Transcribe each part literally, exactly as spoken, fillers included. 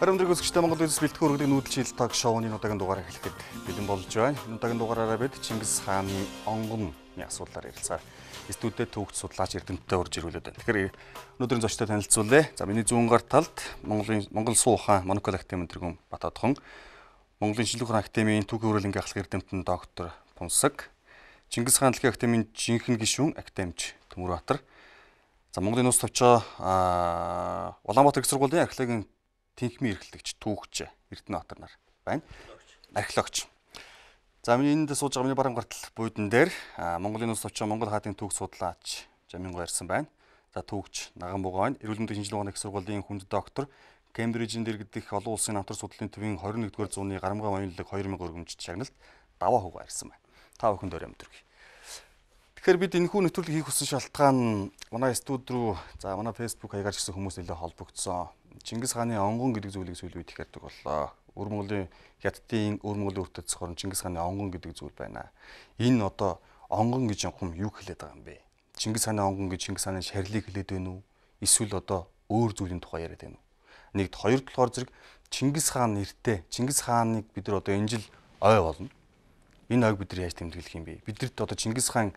Харамдрыг өсгчтэй Монгол Улс бэлтгэн өргөдөг нүүдэлчил таг шоуны удаагийн дугаарыг эхлэхэд бэлэн болж байна. Удаагийн дугаараараа бид Чингис хааны онгоны асуудлаар ярилцаа. Студиэд төвөгч судлаач Эрдэнэтэй урьж ирүүлээд байна. Тэгэхээр өнөөдрийн зочдтой танилцуулъя. За миний зүүн гар талд Монголын Монгол Суу ухаан Монокол Академийн тэргүүн Батадхон, Монголын Шинжлэх ухааны Академийн Түүхийн хөрөлнгийн ахлах эрдэмтэн доктор Пунсаг, Чингис хаан дэлхийн Академийн жинхэнэ гишүүн академич Төмөрбаатар. За Монголын улс товчоо Улаанбаатар их сургуулийн археологийн тэнхимийн эрхлэгч түүхч Эрдэнэбаатар нар байна. Археологч. За миний энд сууж байгаа миний баруун гартал буудан дээр Монголын улс товчоо Монгол хаадын түүх судлаач Жаминго ирсэн байна. За түүхч Наган Бугаа байна. Эрүүл мэндийн шинжилгээ ухааны их сургуулийн хүнд доктор, Кембрижийн дэргэдэх олон улсын намтар судлалын төвийн двадцать нэгдүгээр зууны Гарамгай воёнлог two thousand өргөмжт шагналт даваа хугаа ирсэн байна. Та бүхэнд өрөө өдрөг. Тэгэхээр бид энэхүү нэвтрүүлэг хийх хүссэн шалтгаан манай студи руу за манай Facebook хаягаар ч гэсэн хүмүүс нэлээд холбогдсон. Чингис хааны онгон гэдэг зүйлийг сүүлийн үед их ярьдаг боллоо. Өвөр Монголын хятадын өвөр Монголын үртэд цохор Чингис хааны онгон гэдэг зүйл байна. Энэ одоо онгон гэж юм юу хэлээд байгаа юм бэ? Чингис хааны онгон гэж Чингис хааны шарилыг хэлээд байна уу? Эсвэл одоо өөр зүйлийн тухай яриад байна уу? Нэгд хоёр талаар зэрэг Чингис хаан нэртэй Чингис хааныг бид нар одоо энэ жил ой болно. Энэ ойг бид нар яаж тэмдэглэх юм бэ? Бидэрт одоо Чингис хааны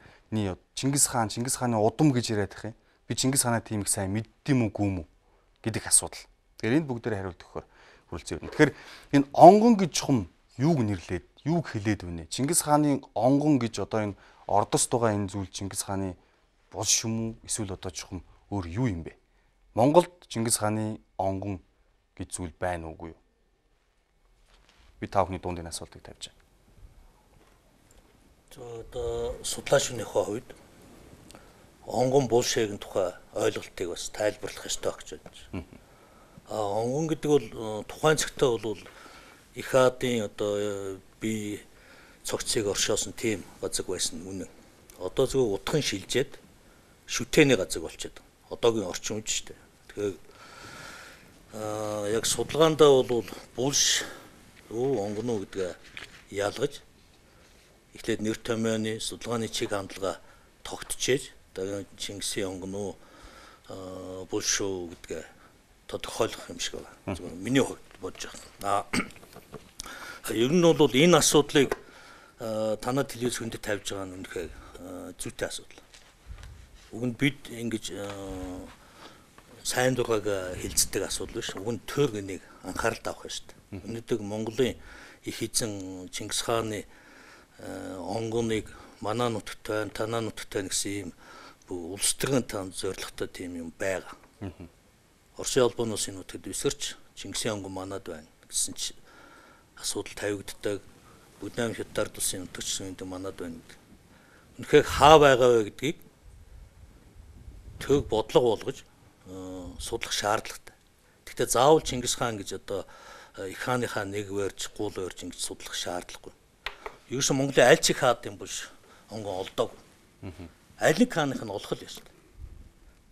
Чингис хаан Чингис хааны удам гэж яриад их юм. Би Чингис хаанаа тийм их сайн мэддэм үгүй юм уу гэдэг асуудал. Тэгэхээр энэ бүгдээр хариулт өгөхөөр хүрэлцээ өрнө. Тэгэхээр энэ онгон гэж чухам юуг нэрлээд, юуг хэлээд байна? Чингис хааны онгон гэж одоо энэ ордост байгаа энэ зүйл Чингис хааны булш юм уу? Эсвэл одоо чухам өөр юу юм бэ? Монголд Чингис хааны онгон гэж зүйл байна уугүй юу? Би та бүхний дунд энэ асуултыг тавьж байна. Одоо судлаачны хувьд онгон булшгийн тухай ойлголтыг бас тайлбарлах ёстой гэж байна. А онгон гэдэг бол тухайн цагтаа бол их хаадын одоо бие цогцыг оршоосон тийм газар байсан үнэн. Одоо зөвхөн утхан шилжээд шүтээний газар болчиход одоогийн орчин үе шүү дээ. Тэгэхээр а яг судалгаандаа бол булш юу онгон уу гэдгээ ялгаж эхлээд нэр томьёоны судалгааны чиг хандлага тогтчихээж одоо Чингисийн онгон уу булш уу гэдгээ тодорхойлох юм шиг байна. Зөвхөн миний хувьд бодож байна. Аа ер нь бол энэ асуудлыг танаа телевиз хүндэд тавьж байгаа нь үнэхээр зүйтэй асуудал. Уг нь бид ингэж сайн дургаг хилцдэг асуудал биш. Уг нь төр гэнийг анхаарал тавих ёстой. Өнөөдөр Монголын их эзэн Чингис хааны онгоныг манай нутагт байна, танаа нутагт байна гэсэн юм улс төрийн танд зорилготой тийм юм байгаа. Оросын албаноос энэ нутагт өсөрч Чингисийн онгон манад байна гэсэн чи асуудал тавигддаг. Бүднам хятад улсын нутагч энэ манад байна гэдэг. Үнэхээр хаа байгаа вэ гэдгийг төг бодлого болгож судлах шаардлагатай. Гэхдээ заавал Чингис хаан гэж одоо их хааныхаа нэг вэрж гул вэрж ингэж судлах шаардлагагүй. Ерөөсөн Монголын аль ч их хаадын булш онгон олдоог. Аль нэг хааных нь олох л ёстой.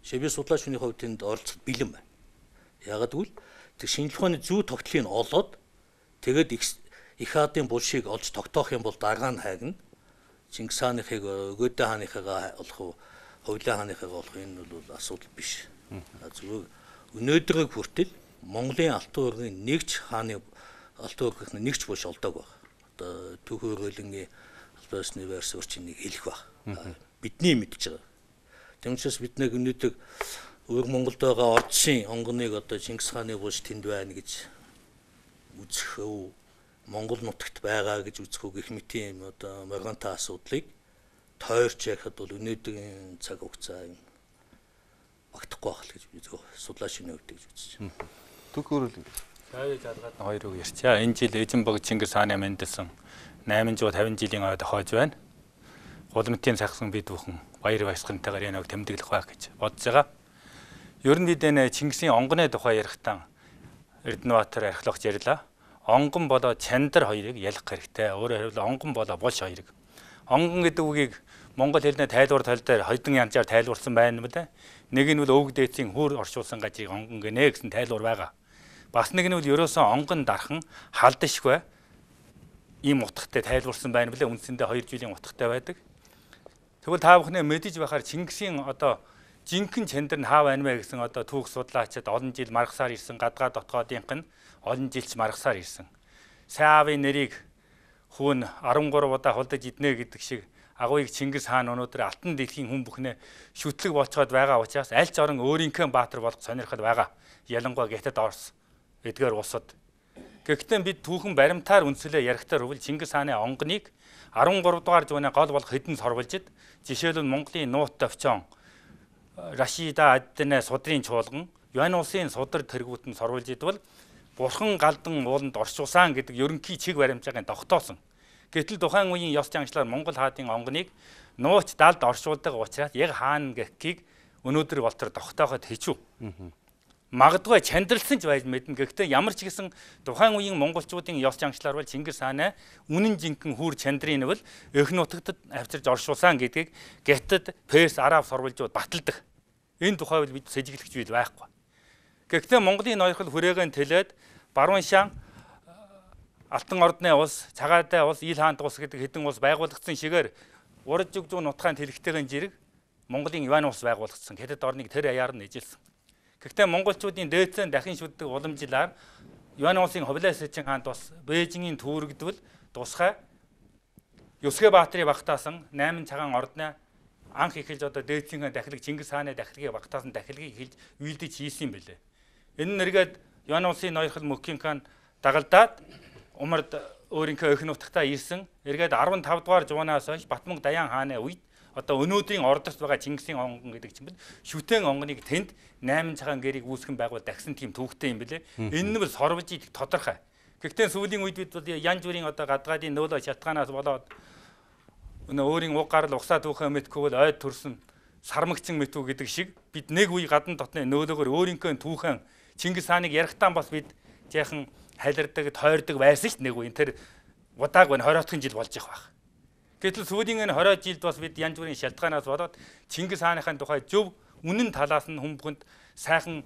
Жишээ би судлаачны хувьд тэнд оролцох бэлэн байна. Ягаад гэвэл тэр шинжлэх ухааны зүй тогтлыг олоод тэгээд их хаадын булшийг олж тогтоох юм бол дараа нь хайгна. Чингис хааныхыг Өгөөдөө хааныхыгаа олох уу, Хувлаа хааныхыгаа олох энэ бол асуудал биш. Зүгээр өнөөдрийг хүртэл Монголын алтан уургийн нэгч хааны алтан уургийнхны нэгч булш олдог байна. Одоо түүхийн хөрөлнгийн албасны верс өрчнийг хэлэх баг. Бидний мэдж байгаа. Тийм учраас бид нэг өнөөдөр өвөр Монголд байгаа ордсын онгоныг одоо Чингис хааны булш тэнд байна гэж үзэх үү, Монгол нутагт байгаа гэж үзэх үү гэх мэт юм одоо моргантай асуудлыг тойрч яхад бол өнөөдрийн цаг хугацаа юм багтахгүй байх л гэж би зөв судлаачны хувьд гэж үзэж байна. Түүх хөрөлнг. Сая жалгаад хоёр үг ярьчаа. Энэ жил Эзэнбог Чингис хааны мэндэлсэн eight hundred fifty жилийн ойд хойж байна. Гулмтын сахсан бид бүхэн баяр баясгалантайгаар янаг тэмдэглэх байх гэж бодож байгаа. Ер нь бид энэ Чингисийн онгоны тухай ярихдаа Эрдэнэбаатар археологч ярьлаа. Онгон болоо чандар хоёрыг ялах хэрэгтэй. Өөрөөр хэлбэл онгон болоо булш хоёрыг. Онгон гэдэг үгийг монгол хэлний тайлбар тал дээр хоёрдон янзаар тайлбарласан байна мөлий. Нэг нь бол өвөг дээдсийн хөр оршуулсан гажиг онгон гэнэ гэсэн тайлбар байгаа. Бас нэг нь бол ерөөсөн онгон дархан халдшгүй ийм утгатай тайлбарласан байна билээ. Үндсэндээ хоёр жилийн утгатай байдаг. Тэгвэл та бүхнээ мэдэж байхаар Чингисийн одоо жинхэнэ чандар нь хаа байна вэ гэсэн одоо түүх судлаачид олон жил маргасаар ирсэн гадгаа дотоодынх нь олон жилч маргасаар ирсэн. Сайн аавын нэрийг хүүн арван гурав удаа хулдаж иднэ гэдэг шиг агууйг Чингис хаан өнөөдөр алтан дэлхийн хүн бүхнээ шүтлэг болцоод байгаа учраас аль ч орон өөрийнхөө баатар болох сонирхол байгаа. Ялангуяа Хятад Орос эдгээр улсад. Гэхдээ бид түүхэн баримтаар үнслээ ярихтаар бол Чингис хааны онгоныг арван гурав дугаар зууны гол болох хэдэн сорволжид жишээлбэл Монголын нуут товчон Рашида Аддэнэ судрын чуулган Юань улсын судар тэргүүтэн сорволжид бол бурхан галдан ууланд оршуулсан гэдэг ерөнхий чиг баримтлагын тогтоосон. Гэтэл тухайн үеийн ёс заншлаар Монгол хаадын онгоныг нууц далд оршуулдаг учраас яг хаана гэхийг өнөөдөр болтор тогтооход хэцүү. Магадгүй чандралсан ч байж мэднэ. Гэхдээ ямар ч гэсэн тухайн үеийн монголчуудын ёс заншлаар бол Чингис хааны үнэн жинхэнэ хүүр чандрын бол эх нутагтад авчирж оршуулсан гэдгийг Хятад, Перс, Араб сурвалжууд баталдаг. Энэ тухай бол бид сэжиглэгч бил байхгүй. Гэхдээ Монголын ноёрхол хүрээгээ тэлээд Баруун шан Алтан ордны улс, Цагаатай улс, Ил хаант улс гэдэг хэдэн улс байгуулагдсан шигээр урд зүг зүүн нутгаан тэлхтэйгэн жирэг Монголын Юань улс байгуулагдсан. Хятад орныг тэр аяар нь эжилсэн. Гэхдээ монголчуудын дээдсэн дахин шүтдэг уламжлаар Юань улсын Хувлай Сэчин хаант бас Бээжингийн түүрэгдвэл тусгай Юсгэ Баатрийн багтаасан найман цагаан ордны анх эхэлж одоо дээдсийн дахилыг Чингис хааны дахилыг багтаасан дахилыг эхэлж үйлдэж хийсэн юм бэлээ. Энэ нэргээд Юань улсын ноёрхол Мөккин хаан дагалдаад Умард өөрийнхөө эх нутагтаа ирсэн. Эргээд арван тав дугаар зуунаас хойш Батмунг Даян хааны үед одоо өнөөдрийн ордорт байгаа Чингисийн онгон гэдэг чинь шүтэн онгоныг тэнд найман цагаан гэрийг үүсгэн байгуул дагсан тийм төвхтэй юм бэлээ. Энэ нь бол сорвож идэх тодорхой. Гэхдээ сүүлийн үед бид бол янз бүрийн одоо гадгаадын нөөлөө шалтгаанаас болоод өнөө өөрийн уг гарал угсаа түүхээ мэдгүй бол ойд төрсөн сармагчин мэтүү гэдэг шиг бид нэг үе гадна дотны нөөлөөгөр өөрийнхөө түүхэн Чингис хааныг ярихтаа бас бид жаахан хайлардаг, тойрдог байсан ш нэг үе. Тэр удааг байна хоройотхон жил болж явах байх. Гэтэл сүүлийн энэ хорой жилд бас бид янз бүрийн шалтгаанаас болоод Чингис хааныхын тухай зөв үнэн талаас нь хүмүүнд сайхан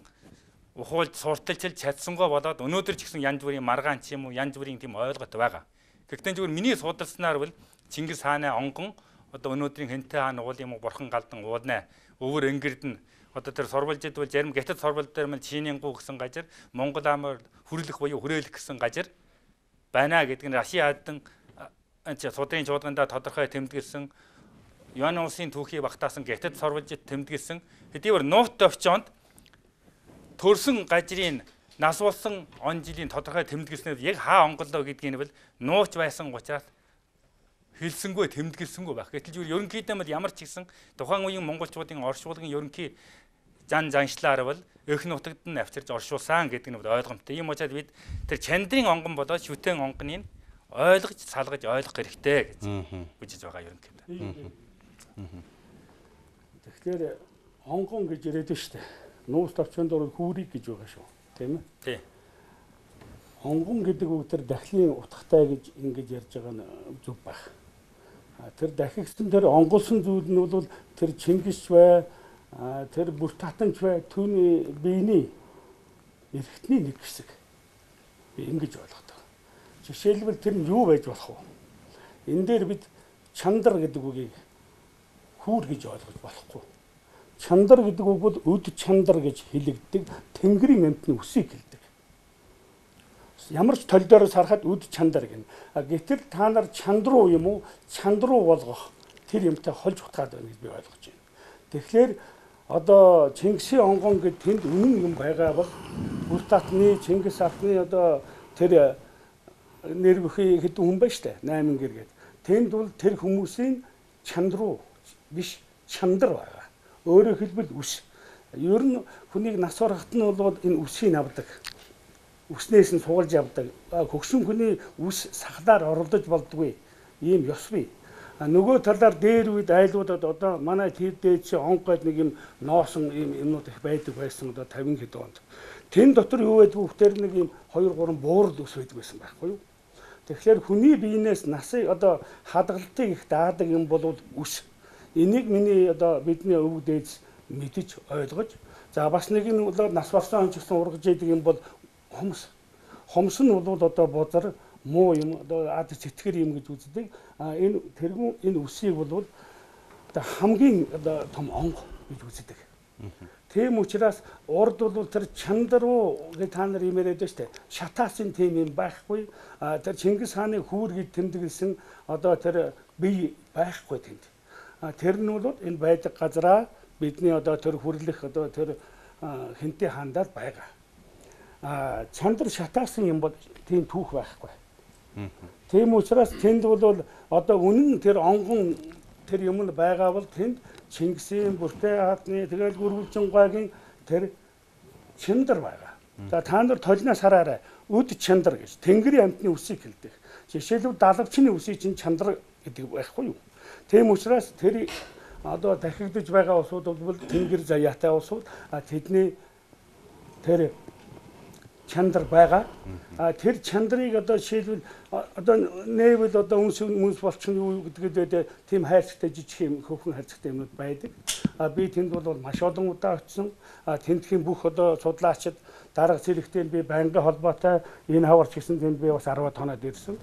ухуулж сурталчилж чадсангаа болоод өнөөдөр ч гэсэн янз бүрийн маргаан ч юм уу янз бүрийн тийм ойлголт байгаа. Гэхдээ зөвхөн миний судалснаар бол Чингис хааны онгон одоо өнөөдрийн Хэнтэй хаан уул юм уу бурхан галдан уулна өвөр ингэрд нь одоо тэр сурвалжид бол зарим Хятад сурвалж дээр мэл Чинийн гу гэсэн газар Монгол амаар хүрлэх буюу хүрээлэх гэсэн газар байна гэдэг нь Раши Аддан анч судрын чуулгандаа тодорхой тэмдэглэсэн Юань улсын түүхийг багтаасан Хятад сурвалжид тэмдэглэсэн хэдийгээр нуут товчонд төрсөн газрын нас болсон он жилийн тодорхой тэмдэглэснээр яг хаа онголоо гэдгийг нь бол нууц байсан учраас хэлсэнгүй тэмдэглэсэнгүй байх. Гэтэл зүгээр ерөнхийдөө бол ямар ч гэсэн тухайн үеийн монголчуудын оршуулгын ерөнхий зан заншлаар бол эх нутагт нь авчирж оршуулсан гэдэг нь ойлгомжтой. Ийм учраас бид тэр чандрын онгон болоод шүтэн онгоныг ойлгож салгаж ойлгох хэрэгтэй гэж үзэж байгаа ерөнхийдөө. Тэгэхээр онгон гэж яриад шүү дээ. Нуус товчонд орол хүүрийг гэж байгаа шүү. Тийм ээ? Тий. Онгон гэдэг үг тэр дахлын утгатай гэж ингэж ярьж байгаа нь зөв байх. Тэр дахигсан тэр онгоолсон зүйл нь бол тэр Чингис бай, тэр бүр татанч бай, түүний биений эрхтний нэг хэсэг. Би ингэж ойлгодог. Жишээлбэл тэр нь юу байж болох вэ? Энэ дээр бид чандар гэдэг үгийг хүүр гэж ойлгож болохгүй. Чандар гэдэг үг бол өд чандар гэж хэлэгддэг Тэнгэрийн амьтны үсийг хэлдэг. Ямар ч тол дээрээс харахад өд чандар гэнэ. Гэтэл та нар чандруу юм уу? Чандруу болгох тэр юмтай холж утгаад байна гэж би ойлгож байна. Тэгэхээр одоо Чингисийн онгон гэд тэнд үнэн юм байгаа бол бүр татны Чингис ахны одоо тэр нэр бүхий хэдэн хүн байна штэ найман гэр гээд. Тэнд бол тэр хүмүүсийн чандруу биш чандар байгаа. Өөрөөр хэлбэл үс. Ер нь хүнийг нас орохт нь бол энэ үсийг авдаг. Үснээс нь суулж явдаг. Хөгшин хүний үс сахлаар оролдож болдгүй. Ийм ёс бий. Нөгөө талаар дээр үед айлуудад одоо манай тэр дээд чи онгойд нэг юм ноосон ийм юмнууд их байдаг байсан одоо тавин хэд онд. Тэн дотор юу байдгүй тэр нэг юм хоёр гурван буурал ус байдаг байсан байхгүй юу? Тэгэхээр хүний биенээс насыг одоо хадгалтыг их даадаг юм бол үс. Энийг миний одоо бидний өвөг дээдс мэдэж ойлгож за бас нэг нь бол нас барсан ч гэсэн ургаж яадаг юм бол хомс. Хомс нь бол одоо бузар муу юм одоо ад сэтгэр юм гэж үздэг. А энэ тэргүүн энэ үсийг бол одоо хамгийн одоо том онго гэж үздэг. Тийм учраас урд бол тэр чандаруу гэж та нар юм яриад штэ. Шатаасын тийм юм байхгүй. А тэр Чингис хааны хүүр гэж тэмдэглэсэн одоо тэр бие байхгүй тэнд. А тэр нь бол энэ байдаг газараа бидний одоо тэр хүрлэх одоо тэр хинтээ хаандаад байгаа. А чандар шатаасан юм бол тийм түүх байхгүй. Тийм учраас тэнд бол одоо үнэн тэр онгон тэр юм нь байгаа бол тэнд Чингисийн бүртээ хаадны тэгэл Гүрвэлжингойгийн тэр чандар байгаа. За та нар толноос хараарай. Үд чандар гэж Тэнгэрийн амьтны үсийг хэлдэг. Жишээлбэл далавчны үсийг чинь чандар гэдэг байхгүй юу? Тийм учраас тэр одоо дахигдж байгаа улсууд бол Тэнгэр заяатай улсууд тэдний тэр чандар байгаа. А тэр чандрыг одоо жишээлбэл одоо нээвэл одоо үнс үнс болчихно юу гэдгээд тийм хайрцагтай жижиг юм хөвхөн хайрцагтай юмуд байдаг. А би тэнд бол маш олон удаа очсон. А тэндхийн бүх одоо судлаачид дарга зэрэгтэй би байнгын холбоотой энэ хаварч гэсэн тэнд би бас арваад хоноод ирсэн.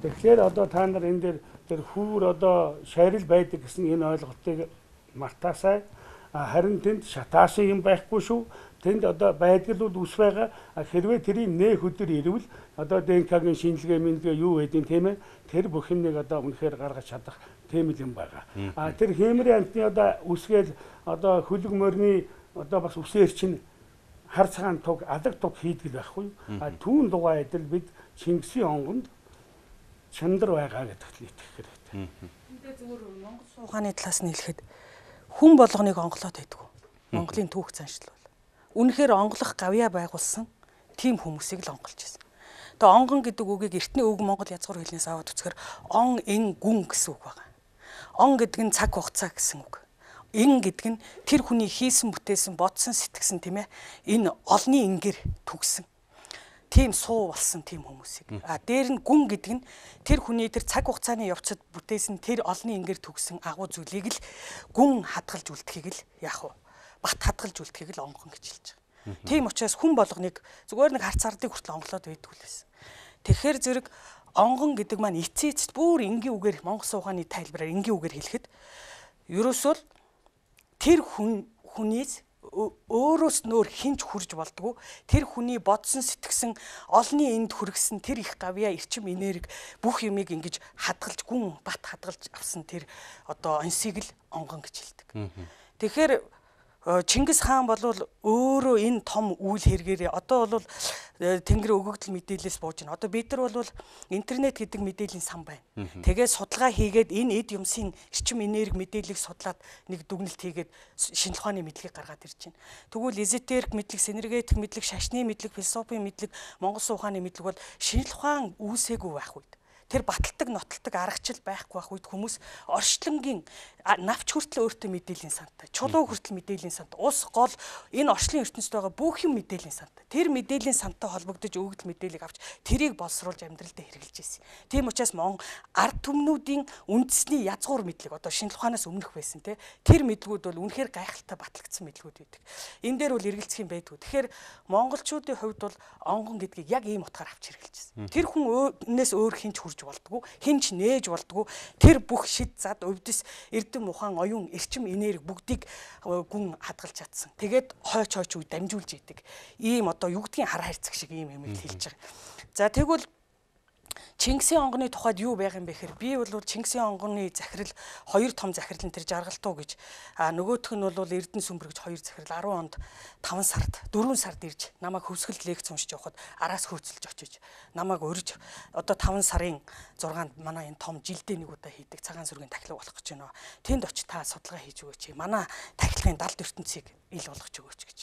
Тэгэхээр одоо та нар энэ дээр тэр хүүр одоо шарил байдаг гэсэн энэ ойлголтыг мартаасай. Харин тэнд шатаасан юм байхгүй шүү. Тэнд одоо байдгал бол ус байгаа. Хэрвээ тэрийг нэх өдөр ирвэл одоо ДНК-гийн шинжилгээ мэнгээ юу байдیں тийм ээ. Тэр бүх юмыг одоо үнэхээр гаргаж чадах тийм юм байгаа. А тэр хэмрийн амтны одоо үсгээл одоо хөлөг морины одоо бас үсээр чинь хар цагаан туг алаг туг хийдгэл байхгүй. А түүн дугаа адил бид Чингисийн онгонд чандар байгаа гэдэгт итгэх хэрэгтэй. Эндээ зүгээр Монгол суугааны талаас нь хэлэхэд хүн болгоныг онголоод байдаг. Монголын түүх заншил бол. Үнэхээр онголох гавьяа байгуулсан тийм хүмүүсийг л онголж байсан. Тэгээ онгон гэдэг үгийг эртний үг Монгол язгуур хэлнээс аваад үзэхээр он эн гүн гэсэн үг байгаа. Он гэдэг нь цаг хугацаа гэсэн үг. Эн гэдэг нь тэр хүний хийсэн бүтээсэн бодсон сэтгсэн тийм ээ. Энэ олны ингээр түгсэн. Тийм суу болсон тийм хүмүүсийг. А дээр нь гүн гэдэг нь тэр хүний тэр цаг хугацааны явцад бүтээсэн тэр олны ингээр түгсэн агуу зүйлийг л гүн хадгалж үлдэхийг л яах вэ? Бат хадгалж үлдэхийг л онгон гэж хэлж байгаа. Тийм учраас хүн болгоныг зүгээр нэг харц ардыг хүртэл онголоод байдгүй л байсан. Тэгэхээр зэрэг онгон гэдэг маань эцээ эцэд бүр энгийн үгээр Монгол суугааны тайлбараар энгийн үгээр хэлэхэд ерөөсөө тэр хүн хүнээс өөрөөс нөр хинж хурж болдгоо тэр хүний бодсон сэтгсэн олны энд хүргэсэн тэр их гавьяа эрчим энерги бүх юмыг ингэж хадгалж гүн бат хадгалж авсан тэр одоо онсыг л онгон гэж хэлдэг. Тэгэхээр Чингис хаан бол өөрөө энэ том үйл хэрэгээрээ одоо бол Тэнгэр өгөгдөл мэдээлэлээс бууж байна. Одоо бид нар бол интернет гэдэг мэдээллийн сан байна. Тэгээд судалгаа хийгээд энэ эд юмсын эрчим энерги мэдээллийг судлаад нэг дүгнэлт хийгээд шинжлэх ухааны мэдлэгийг гаргаад ирж байна. Тэгвэл эзотерик мэдлэг, синергетик мэдлэг, шашны мэдлэг, философийн мэдлэг, Монгол суугааны мэдлэг бол шинжлэх ухаан үүсээгүй байх үед тэр баталдаг, нотолдог аргачлал байхгүй байх үед хүмүүс орчлонгийн навч хүртэл өөртөө мэдээллийн сантай, чулуу хүртэл мэдээллийн сантай, ус гол энэ орчлын ертөнцид байгаа бүх юм мэдээллийн сантай. Тэр мэдээллийн сантай холбогдож өгөгдөл мэдээллийг авч тэрийг боловсруулж амьдралдаа хэрэгжилж ирсэн. Тийм учраас Монгол ард түмнүүдийн үндэсний язгуур мэдлэг одоо шинжлэх ухаанаас өмнөх байсан те тэр мэдлгүүд бол үнэхээр гайхалтай батлагдсан мэдлгүүд байдаг. Энэ дээр бол эргэлзэх юм байдгүй. Тэгэхээр монголчуудын хувьд бол онгон гэдгийг яг ийм утгаар авч хэрэгжилжсэн. Тэр хүн өнөөс өөр хинч хүрж болдгоо, хинч нээж болдгоо тэр бүх шид зад өвдөс эрдэм ухаан оюун эрчим энерги бүгдийг гүн хадгалж чадсан. Тэгээд хойч хойч үе дамжуулж идэг. Ийм одоо юу гэдгийг хар хайрцаг шиг ийм юм хэлж байгаа. За тэгвэл Чингисийн онгоны тухайд юу байх юм бэ гэхээр би бол Чингисийн онгоны захирал хоёр том захирал нь тэр жаргалтуу гэж а нөгөөх нь бол Эрдэнэ сүмбэр гэж хоёр захирал арван онд таван сард дөрвөн сард ирж намайг хөвсгөлд лекц уншиж явахад араас хөөцөлж очиж намайг урьж одоо таван сарын зургаанд манай энэ том жилдээ нэг удаа хийдэг цагаан сүргийн тахилга болох гэж байна. Тэнд очиж та судалгаа хийж өгөөч. Манай тахилгын далд ертөнцийг ил болгож өгөөч гэж.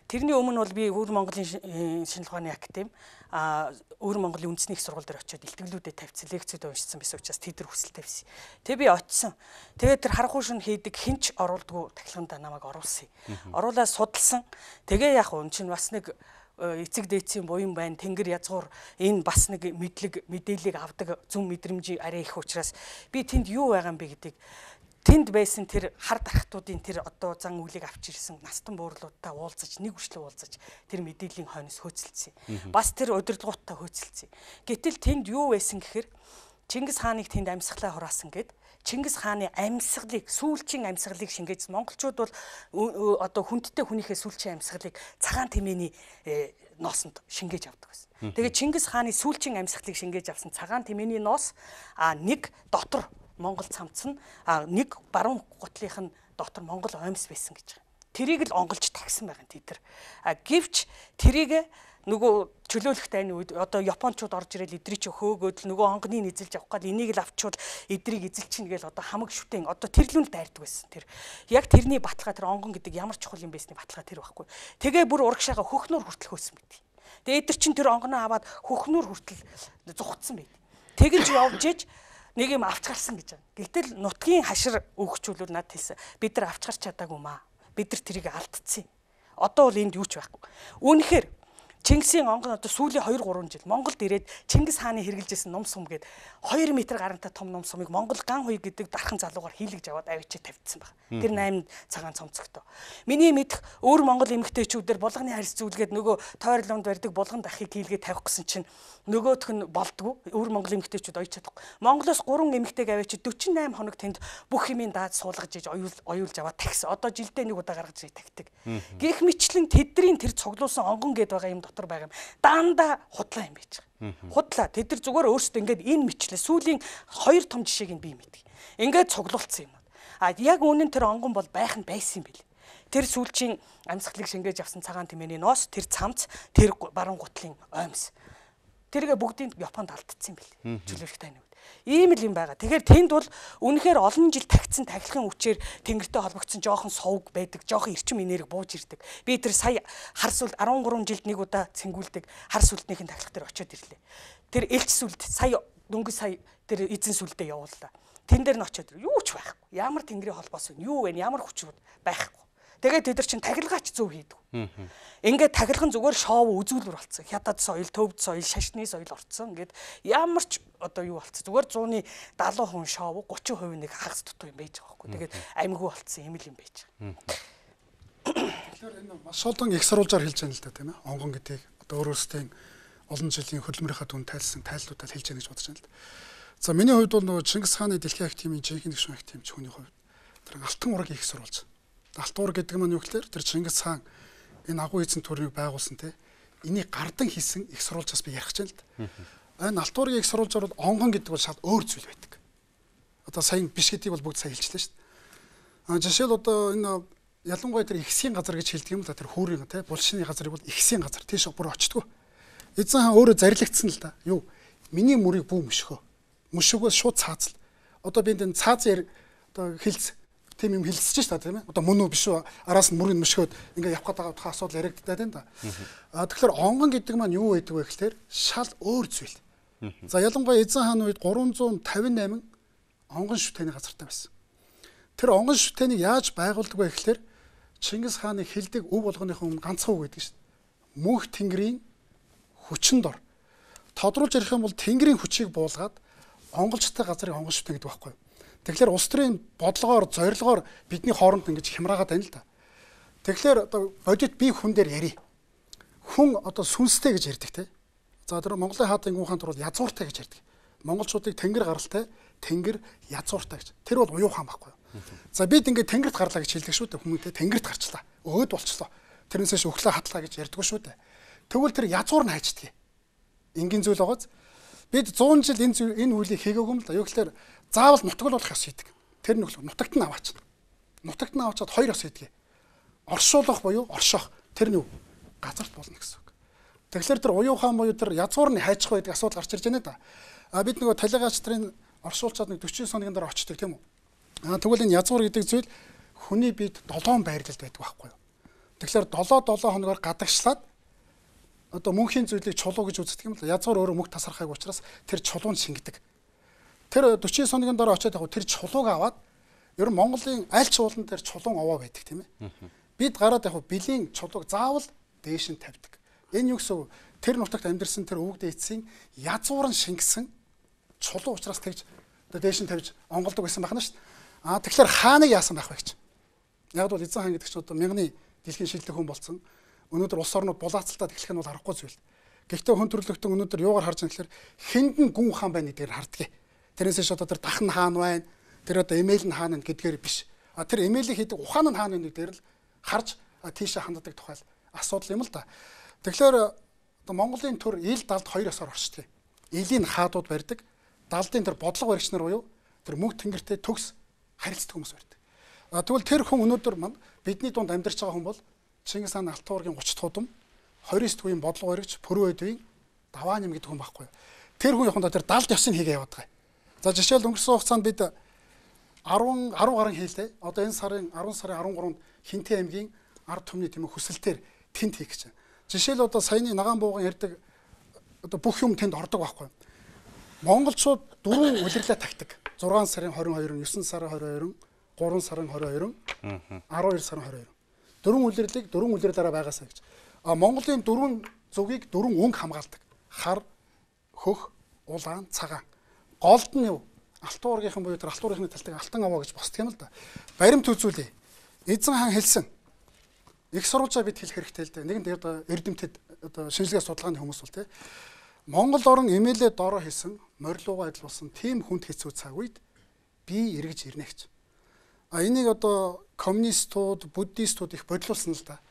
Тэрний өмнө бол би Өвөр Монголын шинжлэх ухааны академи а Өвөр Монголын үндэсний их сургууль дээр очиод илтгэлүүдэд тавьсан лекцүүд уншсан байсан учраас тэд нар хүсэлтэй байсан. Тэгээ би очисон. Тэгээд тэр харахуй шин хийдэг хинч оруулдгүй тахилганд намайг оруулсан. Оруулаад судалсан. Тэгээ яг уу чинь бас нэг эцэг дээдсийн буян байна. Тэнгэр язгуур энэ бас нэг мэдлэг мэдээллийг авдаг зөв мэдрэмж арай их учраас би тэнд юу байгаа юм бэ гэдгийг тэнд байсан тэр хар дарахтуудын тэр одоо зан үлийг авч ирсэн настан буурлуудтай уулзаж нэг үрчлээ уулзаж тэр мэдээллийн хойноос хөөцөлдсөн. Бас тэр удирдлагуудтай хөөцөлдсөн. Гэтэл тэнд юу байсан гэхээр Чингис хааныг тэнд амьсгалаа хураасан гэд Чингис хааны амьсгалыг, сүүлчийн амьсгалыг шингээж монголчууд бол одоо хүндтэй хүнийхээ сүүлчийн амьсгалыг цагаан тэмээний ноосонд шингээж авдаг байсан. Тэгээд Чингис хааны сүүлчийн амьсгалыг шингээж авсан цагаан тэмээний ноос а нэг дотор Монгол цамц нь а нэг баруун гутлынх нь дотор Монгол оймс байсан гэж байна. Тэрийг л онголж тагсан байгаа нь тэд нар. А гэвч тэрийг нөгөө чөлөөлөх тайны үед одоо японочууд орж ирэл эдрий ч хөөгөөд л нөгөө онгоныг эзэлж авах гал энийг л авчвал эдрийг эзэлчихнэ гээл одоо хамаг шүтэн одоо тэрлүүл дайрдаг байсан. Тэр яг тэрний баталгаа тэр онгон гэдэг ямар чухал юм байсны баталгаа тэр байхгүй. Тэгээ бүр урагшаага хөхнөр хүртэл хөөсөн байт. Тэгээ эдэр чин тэр онгоноо аваад хөхнөр хүртэл зүхтсан байт. Тэгэж явж иж нэг юм авч гарсан гэж байна. Гэтэл нутгийн хашир өгчүүлүүд надад хэлсэн. Бид нар авч гарч чадаагүй маа. Бид нар тэрийг алдчихсан. Одоо бол энд юу ч байхгүй. Үүнхээр Чингисийн онгон одоо сүүлийн хоёр гурван жил Монголд ирээд Чингис хааны хэрэгжилсэн ном сум гээд хоёр метр гарантай том ном сумыг Монгол ган хуй гэдэг дархан залуугаар хийлгэж аваад авчиж тавьдсан баг. Тэр найман цагаан цомцогтой. Миний мэдх өөр Монгол эмэгтэйчүүдээр булганы харьс зүйлгээд нөгөө тойрлонд барьдаг булган дахыг хийлгээд тавих гэсэн чинь нөгөөх нь болдгоо. Өөр Монгол эмэгтэйчүүд ойч чадахгүй. Монголоос гурван эмэгтэйг авчиж дөрвөн найман хоног тэнд бүх юмын даад суулгаж иж оюул оюулж аваад тагсан. Одоо жилдээ нэг удаа гаргаж иж тагдаг. Гэх мэтлэн тэдний тэр цуглуулсан онгон гээд байгаа юм дотор байгаа юм. Даандаа худлаа юм байж байгаа. Худлаа. Тэд нар зүгээр өөрсдөө ингээд энэ мэтлээ сүүлийн хоёр том жишээг нь би мэддэг. Ингээд цуглуулсан юм. А яг үнэн тэр онгон бол байх нь байсан юм бэл. Тэр сүүлчийн амьсгалыг шингээж авсан цагаан тэмээний ноос, тэр цамц, тэр баруун гутлын оймс. Тэргээ бүгдийг Японд алдчихсан юм бэл. Чөлөөлөх тайны үед. Ийм л юм байгаа. Тэгэхээр тэнд бол үнэхээр олон жил тагцсан тахилгын хүчээр тэнгэртэй холбогдсон жоохон совг байдаг, жоохон эрчим энерги бууж ирдэг. Би тэр сая хар сүлд арван гурван жилд нэг удаа цэнгүүлдэг хар сүлднийхэн тахилга дээр очиод ирлээ. Тэр элч сүлд сая дөнгөж сая тэр эзэн сүлдээ явууллаа. Тэн дээр нь очиод юу ч байхгүй. Ямар тэнгэрийн холбоос вэ? Юу вэ? Ямар хүчрүүд байхгүй. Тэгээд тэд нар чинь тахилгаач зөв хийдэг. Ингээд тахилган зүгээр шоу үзүүлбэр болцсон. Хятад соёл, төвд соёл, шашны соёл орцсон. Ингээд ямар ч одоо юу болцсон. Зүгээр зууны дагалуу хүн шоу гучин хувь нэг хагас дутуу юм байж байгаа байхгүй. Тэгээд амьгүй болцсон юм л юм байж байгаа. Тэгэхээр энэ маш олон их сурвалжаар хэлж байгаа л да тийм ээ. Онгон гэдгийг одоо өөрөөсөө олон жилийн хөдөлмөрийнхаа түн тайлсан тайллуудаар хэлж байгаа гэж бодож байна л да. За миний хувьд бол нөгөө Чингис хааны дэлхийн ах тимийн жинхэнэ гишүүн ах тимч хүний хувьд тэр алтан ураг их сурвалж. Алтан ураг гэдэг нь юу гэхээр тэр Чингис хаан энэ агуу эзэн төрийг байгуулсан те энийг гардан хийсэн их сурвалжаас би ярих гэж байна л да. Энэ алтан ургийн их сурвалжаар бол онгон гэдэг бол шал өөр зүйл байдаг. Одоо сайн биш гэдгийг бол бүгд сайн хэлчихлээ шүү дээ. А жишээл одоо энэ ялангуяа тэр ихсийн газар гэж хэлдэг юм л да тэр хүүрийн те булшины газрыг бол ихсийн газар тийш бүр очтгоо. Эзэн хаан өөрөө зарилгдсан л да. Юу миний мөрийг бүү мөшгөө. Мөшгөөс шууд цаазал. Одоо би энэ цаазын одоо хилц тийм юм хилцэж шүү дээ тийм ээ. Одоо мөн үү биш үү? Араас нь мөрийг мөшгөөд ингээ явах гэдэг тухайн асуудал яригддаг тийм да. А тэгэхээр онгон гэдэг маань юу байдаг вэ гэхээр шал өөр зүйл. За ялангуяа эзэн хааны үед гурван зуун тавин найман онгон шүтээний газартай байсан. Тэр онгон шүтээнийг яаж байгуулдаг вэ гэхээр Чингис хааны хилдэг өв болгоныхоо өмнө ганцхан үг гэдэг шүү дээ. Мөнх тэнгэрийн хүчин дор. Тодруулж ярих юм бол тэнгэрийн хүчийг буулгаад онголчтой газрыг онгон шүтэн гэдэг байхгүй юу? Тэгэхээр улс төрийн бодлогоор, зорилгоор бидний хооронд ингэж хямраагаад байна л да. Тэгэхээр одоо бодит би хүн дээр ярий. Хүн одоо сүнстэй гэж ярьдаг те. За тэр Монголын хаатын гүн хаан тур бол язууртай гэж ярьдаг. Монголчуудыг тэнгэр гаралтай, тэнгэр язууртай гэж. Тэр бол уян хаан байхгүй юу? За бид ингээд тэнгэрт гарлаа гэж хэлдэг шүү дээ. Хүмүүстээ тэнгэрт гарчлаа. Өөд болчлоо. Тэрнээсээ өглөө хатлаа гэж ярьдаг шүү дээ. Тэгвэл тэр язуур нь хайчдаг. Энгийн зүйл байгааз бид зуун жил энэ энэ үйлийг хийгээгүй юм л да. Юу гэхээр заавал нутаглуулах ёс хийдэг. Тэр нэг нутагт нь аваач. Нутагт нь аваачаад хоёр ёс хийдэг. Оршуулах буюу оршоох. Тэр нь юу? Газарт болно гэсэн үг. Тэгэхээр тэр уян хаан буюу тэр язгуур нь хайчих байдаг асуудал гарч ирж байна да. А бид нөгөө талигаач нарын оршуулчаад нэг дөрвөн хоногийн дараа очдөг тийм үү? А тэгвэл энэ язгуур гэдэг зүйл хүний биед долоон байрлалд байдаг байхгүй юу? Тэгэхээр долоо долоо хоногоор гадагшлаад одоо мөнхийн зүйлийг чулуу гэж үздэг юм л. Язгуур өөрөө мөнх тасархайг учраас тэр чулуунд шингэдэг. Тэр дөрвөн хоногийн дараа очиод яг тэр чулууг аваад ер нь Монголын аль ч уулан дээр чулуун овоо байдаг тийм ээ. Бид гараад яг бэлгийн чулууг заавал дээш нь тавьдаг. Энэ юу гэсэн үг? Тэр нутагт амьдэрсэн тэр өвөг дээдсийн язууран шингэсэн чулуу учраас тэгж одоо дээш нь тавьж онголдог байсан байна шүү дээ. Аа тэгэхээр хааныг яасан байх вэ гэж. Яг бол эзэн хаан гэдэг чинь одоо мянганы дэлхийн шилдэг хүн болсон. Өнөөдөр улс орнууд булаацалтад эхлэх нь бол аргагүй зүйл. Гэхдээ хүн төрлөختөн өнөөдөр юугаар харж байгаа гэхээр хэнд нь гүн хаан байна гэдгээр харддаг. Тэрнээс ч одоо тэр дахн хаана байна? Тэр одоо имэйл нь хаана гэдгээр биш. А тэр имэйлийг хийдэг ухаан нь хаана вэ гэдгээр л харж тийшээ ханддаг тухай асуудал юм л да. Тэгэхээр одоо Монголын төр ил далд хоёр ёсоор орчдөг. Илийн хаадууд барьдаг. Далдын тэр бодлого баригч нар буюу тэр мөнх тэнгэртэй төгс харилцдаг хүмүүс барьдаг. А тэгвэл тэр хүн өнөөдөр маань бидний дунд амьдарч байгаа хүн бол Чингис хааны Алтан уургийн гуч туудам двадцать үеийн бодлого баригч Пүрүү эдвийн Давааним гэдэг хүн байхгүй. Тэр хүн яханд тэр далд ёсыг хийгээ яваад байгаа. За жишээл өнгөрсөн хугацаанд бид десять десять гаруй хийлээ. Одоо энэ сарын десять сарын дөрөв гуравнд Хинтээ аймгийн ард түмний тийм хүсэлтээр тэнд хийх гэж байна. Жишээл одоо саяны Нагаан бууган ярьдаг одоо бүх юм тэнд ордог байхгүй. Монголчууд дөрвөн улирлаа тагтдаг. зургаан сарын двадцать two, нine сарын двадцать two, three сарын двадцать two, twelve сарын двадцать two. Дөрвөн улирлыг дөрвөн улирлаараа байгаасаа гэж. А Монголын дөрвөн зүгийг дөрвөн өнгө хамгаалдаг. Хар, хөх, улаан, цагаан. Голд нь юу? Алтан уургийнхан буюу тэр алтан уургийнхны талтыг алтан аваа гэж босдг юм л да. Баримт үзүүлээ. Эзэн хаан хэлсэн. Их сурвалжаа бид хэлэх хэрэгтэй л дээ. Нэгэн дээр одоо эрдэмтэд одоо шинжилгээ судалгааны хүмүүс бол тий. Монгол орн эмээлээ доороо хийсэн, морилуугаа адилуулсан тийм хүнд хэцүү цаг үед би эргэж ирнэ гэж. А энийг одоо коммунистууд, буддистууд их бодлуулсан л да.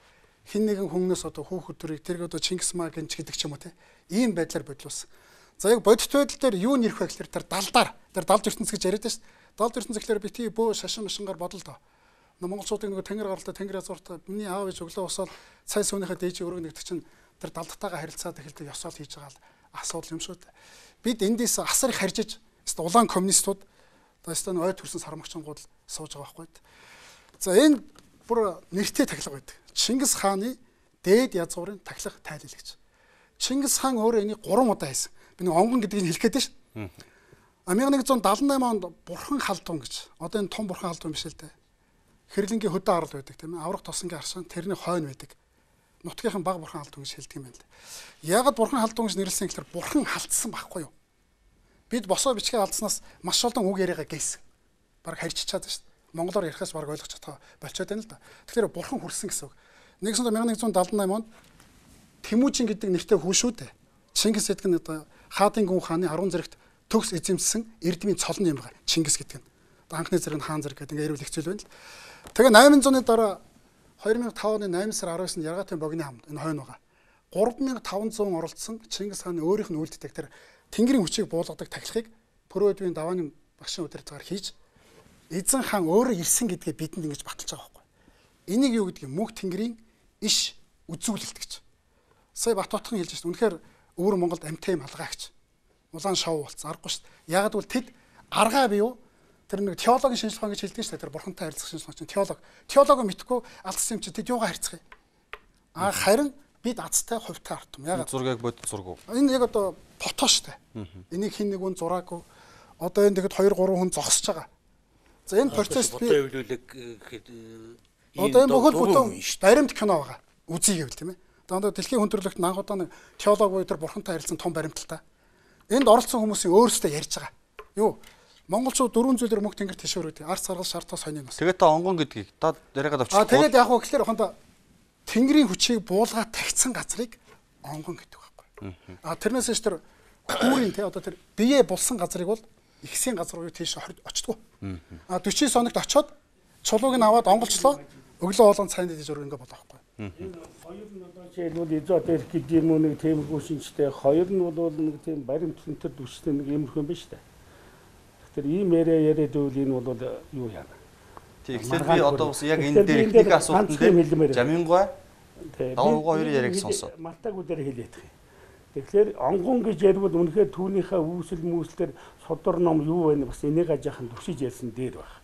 Хин нэгэн хүмүүнээс одоо хүүхдүүдийг тэрг одоо Чингис Мааг гэнч гэдэг ч юм уу тий. Ийм байдлаар бодлуулсан. За яг бодит байдал дээр юу нэрх вэ гэхээр тэр далдаар тэр далд ертөнц гэж яриад байна шүү дээ. Далд ертөнц гэхээр бити бөө шашин машингаар бодол доо. Монголчуудын нэг тэнгэр гаралтай тэнгэр азууртай миний аав ээж өглөө усаад цай сүүнийхээ дээжийн өргөн нэгдэг чинь тэр далдтайгаа харилцаад эхэлдэг ёсоол хийж байгаа л асуудал юм шүү дээ. Бид эндээс асар их харжиж улаан коммунистууд одоо ой төрсөн сармагчингууд сууж байгаа байхгүй. За энэ бүр нэртэй тахилга байдаг. Чингис хааны дээд язгуурын тахилга тайлал гэж. Чингис хаан өөрөө энийг гурван удаа хийсэн. Би нэг онгон гэдгийг хэлэх гээд шүү. А 천ninety seventy-eight онд бурхан халдван гэж. Одоо энэ том бурхан халдван биш л дээ. Хэрлэнгийн хөдөө арал байдаг тийм ээ. Аврах тосонгийн аршин тэрний хойно байдаг. Нутгийнхан баг бурхан халдван гэж хэлдэг юм байна л. Яагаад бурхан халдван гэж нэрлсэн гэхээр бурхан халдсан байхгүй юу? Бид босоо бичгээ алдснаас маш олон үг яриагаа гээсэн. Бараг харьчичаад шүү дээ. Монголоор ярихаас бараг ойлгож чадгаа болчиход байна л да. Тэгэхээр бурхан хүрсэн гэсэн үг. 천ninety seventy-eight онд Тэмүүжин гэдэг нэртэй хүн шүү дээ. Чингис гэдэг нь одоо Хаадын гүн хааны арван зэрэгт төгс эзэмссэн эрдмийн цолн юм байгаа. Чингис гэдэг нь. Одоо анхны зэрэг нь хаан зэрэг гэдэг ингээ ярил хэцүү байна л. Тэгээ восемь hundred-ны дараа two thousand five оны eight сар twelve-нд Яргатын богино хамт энэ хойно байгаа. three thousand five hundred оролцсон Чингис хааны өөрийнх нь үлддэг тэр тэнгэрийн хүчийг буулгадаг тахилгыг Пүрүү эдвийн Давааним багшийн удирдлагаар хийж эзэн хаан өөрөө ирсэн гэдгээ бидэнд ингэж баталж байгаа байхгүй. Энийг юу гэдэг юм? Мөнх тэнгэрийн иш үзүүлэлт гэж. Сая Батбатхан хэлж байна. Үнэхээр өвөр Монголд амтай юм алгаагч. Улаан шоу болцсон. Аргагүй шүү дээ. Ягаад гэвэл тэд аргаа бий юу? Тэр нэг теологийн шинжилгээ гэж хэлдэг шүү дээ. Тэр бурхантай харилцах шинжилгээ чинь теолог. Теологоо мэдхгүй алдсан юм чи тэд юугаар харьцах юм? А харин бид азтай хувьтай арт юм. Ягаад? Зургийг бодит зургуу. Энэ яг одоо фото шүү дээ. Энийг хин нэг хүн зураагүй. Одоо энэ тэгэхэд two three хүн зогсож байгаа. За энэ процесс би фото эвлүүлэг гэхэд одоо энэ бүхэл бүтэн баримт кино байгаа. Үзье гэвэл тийм ээ. Одоо дэлхийн хүн төрөлхтөнд анх удаа нэг теолог буюу тэр бурхантай харилцсан том баримталтай. Энд оролцсон хүмүүсийн өөрсдөө ярьж байгаа. Юу? Монголчууд дөрвөн зүйлээр мөнх тэнгэр тишүүрээд ард саргал шартаа сонин бас. Тэгээд та онгон гэдгийг та яриагаад авчих. А тэгээд яг хөө гэхэлэр хонда тэнгэрийн хүчийг буулгаад тагцсан газрыг онгон гэдэг байхгүй. А тэрнээс ч тэр хүүрийн те одоо тэр бие булсан газрыг бол ихсийн газар руу тийш очтгоо. А forty-nine хоногт очоод чулууг нь аваад онголчлоо. Өглөө хоолон цайнд дэж өргөнгө болоо байхгүй. Хоёр нь одоо жишээлбэл эзот эрх гэдэг юм уу нэг тиймэрхүү шинжтэй. Хоёр нь бол нэг тийм баримт цэнтэр дүрстэй нэг иймэрхүү юм байна шүү дээ. Тэгэхээр ийм яриа яриад үйл энэ бол юу яана. Тэгэхээр би одоо бас яг энэ дээр их асуултанд дээр Жамингой Давуугаа хоёрын яриаг сонсоо. Мартаг үдээр хэлээд байгаа. Тэгэхээр онгон гэж ярил үнэхээр түүнийхээ үүсэл мүслэр содор ном юу вэ бас энийг ажаахан төвшиж ярьсан дээр байна.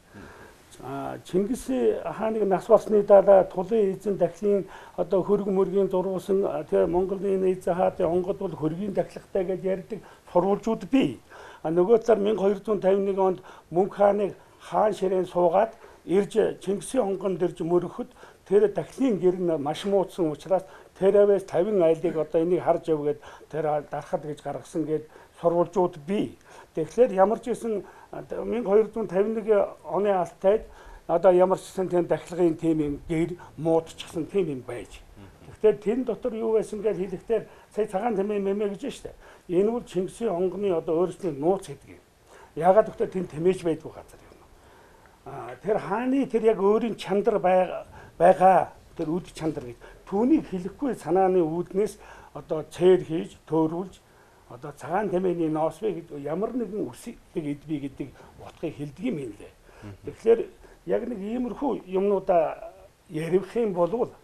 А Чингис хааныг нас болсны дараа тулын эзэн дахлын одоо хөрг мөргийн зуруусан тэгээ Монголын эзэн хаатын онгод бол хөргийн дахлагтай гэж ярьдаг сурвалжууд бий. А нөгөө талаар twelve fifty-one онд Мөнх хааныг хаан ширээн суугаад ирж Чингисийн онгон дэрж мөрөхөд тэр дахлын гэр нь маш муудсан учраас тэрээс fifty айлыг одоо энийг харж явгээд тэр дарахад гэж гаргасан гээд сурвалжууд бий. Тэгэхээр ямар ч гэсэн twelve fifty-one оны алтайд одоо ямар ч гэсэн тийм дахилгын тийм юм гэр муудчихсан тийм юм байж. Тэгэхээр тэн дотор юу байсан гэж хэлэхдээ сая цагаан тэмээ мэмэ гэж штэ. Энэ бол Чингисийн онгоны одоо өөрсдийн нууц гэдэг юм. Яагаад гэвэл тэнд тэмээж байдгүй газар юм. Аа тэр хааны тэр яг өөрийн чандар байгаа тэр үд чандар гэж түүнийг хэлэхгүй санааны үүднээс одоо цээр хийж төөрүүлж одоо цагаан тэмээний ноосвэ гэж ямар нэгэн үсэг эдбий гэдэг утгыг хэлдэг юм лээ. Тэгэхээр яг нэг иймэрхүү юмнуудаа ярих юм бол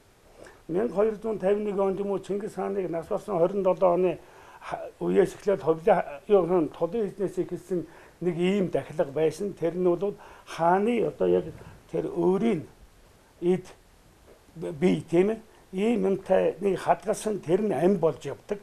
мянга хоёр зуун тавин нэг онд юм уу Чингис хааныг нас барсан хорин долоо оны үеэс эхлээд ховлын юу тулын эзнээс ихэлсэн нэг ийм дахилга байсан. Тэр нь бол хааны одоо яг тэр өөрийн эд бие тийм ээ ийм юмтай нэг хадгалсан тэр нь ам болж явдаг.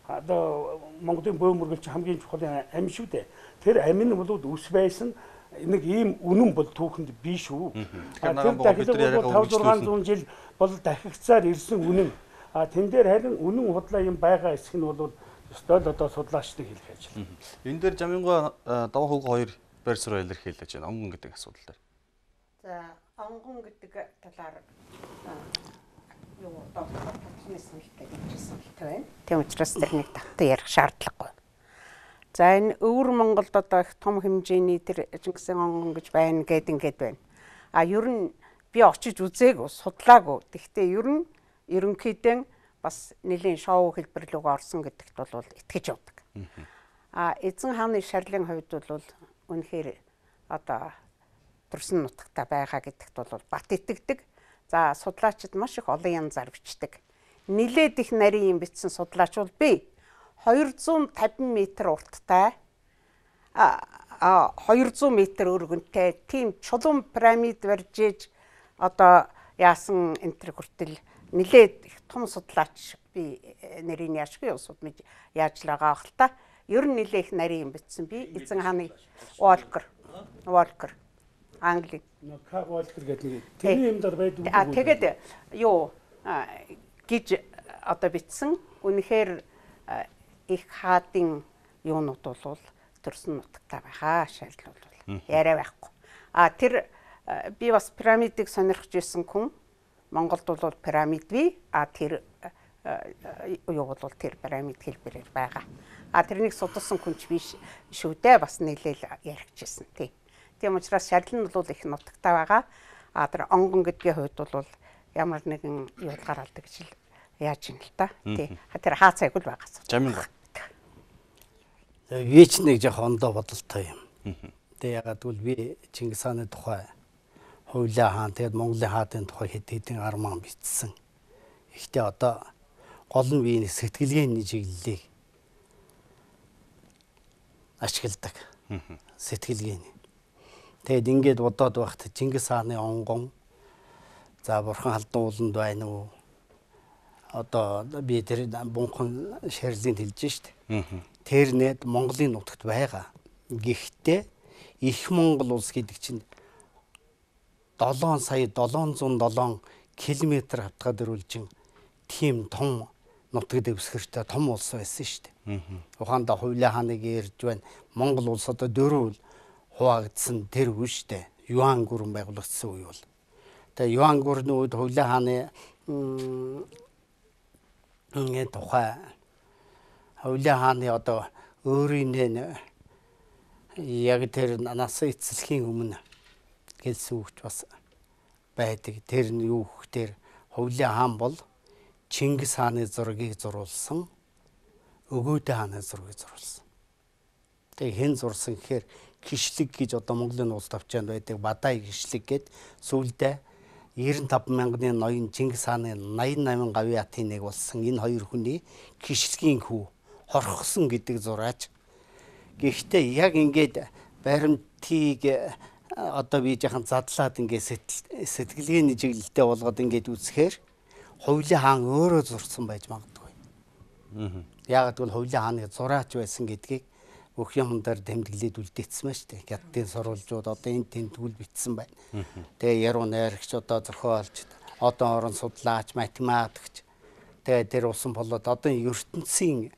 Одоо Монголын бөөмөргөлч хамгийн чухал ам шүү дээ. Тэр ам нь бол ус байсан нэг ийм үнэн бол түүхэнд биш шүү. Тэр дахилга бол таван зургаан зуун жил бол дахигцаар ирсэн үнэн. А тэн дээр харин үнэн худлаа юм байгаа эсэх нь бол өстой л одоо судлаачдыг хэлэх ажил. Энэ дээр Жаминго даваа хөвгөө хоёр байр суурь илэрхийлж байна. Онгон гэдэг асуудал дээр. За онгон гэдэг талаар юу доктор Татнаас хэлдэг гэсэн хэлтэй байна. Тийм учраас тэрнийг тавтай ярих шаардлагагүй. За энэ өвөр Монголд одоо их том хэмжээний тэр Чингисийн онгон гэж байна гэд ингээд байна. А ер нь би очиж үзээгүй, судлаагүй. Гэхдээ ер нь ерөнхийдөө бас нэлийн шоу хэлбэр рүү орсон гэдэгт бол итгэж явдаг. А эзэн хааны шарлын хувьд бол үнэхээр одоо төрсөн нутагта байгаа гэдэгт бол бат итгэдэг. За судлаачид маш их олон янзаар бичдэг. Нилээд их нарийн юм бичсэн судлаач бол би хоёр зуун тавин метр урттай а хоёр зуун метр өргөнтэй тийм чулуун пирамид барьж иж одоо яасан энтер хүртэл нилээд их том судлаач би нарийн яашгүй судмж яаж л байгаа хэл та. Ер нь нилээ их нарийн юм бичсэн би эзэн хааны Волкер Волкер Англи К Волкер гэдэг нэг тэрний юм дээр байдаг. А тэгээд юу гэж одоо бичсэн. Үнэхээр их хаадын юунууд бол төрсөн нутагтай байгаа шаардлага бол яриа байхгүй. А тэр би бас пирамидыг сонирхож байсан хүн Монголд бол пирамид бий. А тэр юу бол тэр пирамид хэлбэрээр байгаа. А тэрнийг судалсан хүн ч биш шүү дээ. Бас нэлээл яригчсэн тий. Тийм учраас шаардлага нь бол их нутагтай байгаа. А тэр онгон гэдгийн хувьд бол ямар нэгэн юу гаралдаг гэж яаж юм л та. Тий. Тэр хаа цайг л байгаа. Жаминго. Вич нэг жоо ондоо бодолтой юм. Тэг ягаад гэвэл би Чингис хааны тухай Хувлаа хаан тэгээд Монголын хаадын тухай хэд хэдэн арман бичсэн. Ихтэй одоо гол нь би сэтгэлгээний чиглэлийг ашигладаг. Сэтгэлгээний. Тэгэд ингээд бодоод байхад Чингис хааны онгон за бурхан халдан ууланд байна уу? Одоо би тэр бунхан шарилыг хэлж штт. Тэр нэт Монголын нутагт байгаа. Гэхдээ их Монгол улс гэдэг чинь долоон сая долоон зуун долоон километр хавтгаа дөрвөлжин тийм том нутаг дэвсгэртэй том улс байсан шүү дээ. Ухаандаа Хувлаа хааныг ярьж байна. Монгол улс одоо дөрөв хуваагдсан тэр үе шүү дээ. Юан гүрэн байгуулагдсан үе бол. Тэгээ Юан гүрний үед Хувлаа хааны ингэ тухай Хувлаа хааны одоо өөрийн яг тэр нас эцэлхийн өмнө гэсэн үгч бас байдаг. Тэр нь юу гэхээр Хувлаа хаан бол Чингис хааны зургийг зурулсан, Өгөөдөө хааны зургийг зурулсан. Тэгээ хэн зурсан гэхээр Кишлэг гэж одоо Монголын улс тавчаанд байдаг Бадай Кишлэг гэд сүүлдээ девяносто пять мянганы ноён Чингис хааны восемьдесят восемь гавьяа атын нэг болсон энэ хоёр хүний Кишлэгийн хүү хорхосон гэдэг зураач. Гэхдээ яг ингээд баримтыг одоо би яхан задлаад ингээд сэтгэлгээний чиглэлтэй болгоод ингээд үзэхээр Хувлаа хаан өөрөө зурсан байж магадгүй. Яг гэвэл Хувлаа хааны зураач байсан гэдгийг бүх юмдаар тэмдэглээд үлдээсэн байна шүү дээ. Хятадын сурвалжууд одоо энэ тэмдгүүл бичсэн байна. Тэгээ яруу найрагч одоо зохиолч, одоо орон судлаач, математикч тэгээ тэр усан болоод одоо ертөнцийн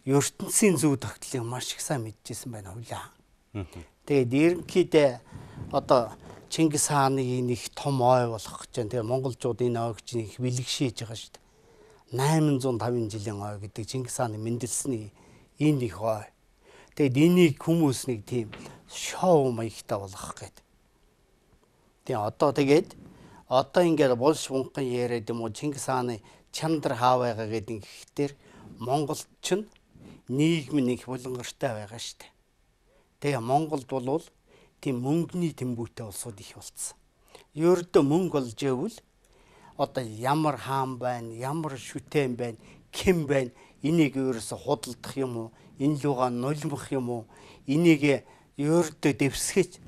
ертөнцийн зөв тогтлыг маш их сайн мэдчихсэн байна Хувлаа хаан. Тэгээд ерөнхийдөө одоо Чингис хааны нэг том ой болох гэж байна. Тэгээ монголчууд энэ ойг чинь их бэлгшээж байгаа шүү дээ. восемьсот пятьдесят жилийн ой гэдэг Чингис хааны мэндэлсний энэ их ой. Тэгэд энийг хүмүүс нэг тийм шоу маягтай болгох гэдэг. Тэгээ одоо тэгээд одоо ингээд булш бунхан яриад юм уу Чингис хааны чандар хаа байгаа гэдэг ихтер Монголд ч нийгэм нэг булангартай байгаа штэ. Тэгээ Монголд бол тийм мөнгөний тэмбүүтэй улсууд их болцсон. Ердөө мөнгө олж ивэл одоо ямар хаан байна, ямар шүтэн байна, хэн байна, энийг ерөөсө худалдах юм уу, энэ лугаа нулимх юм уу, энийг ердөө дэвсгэж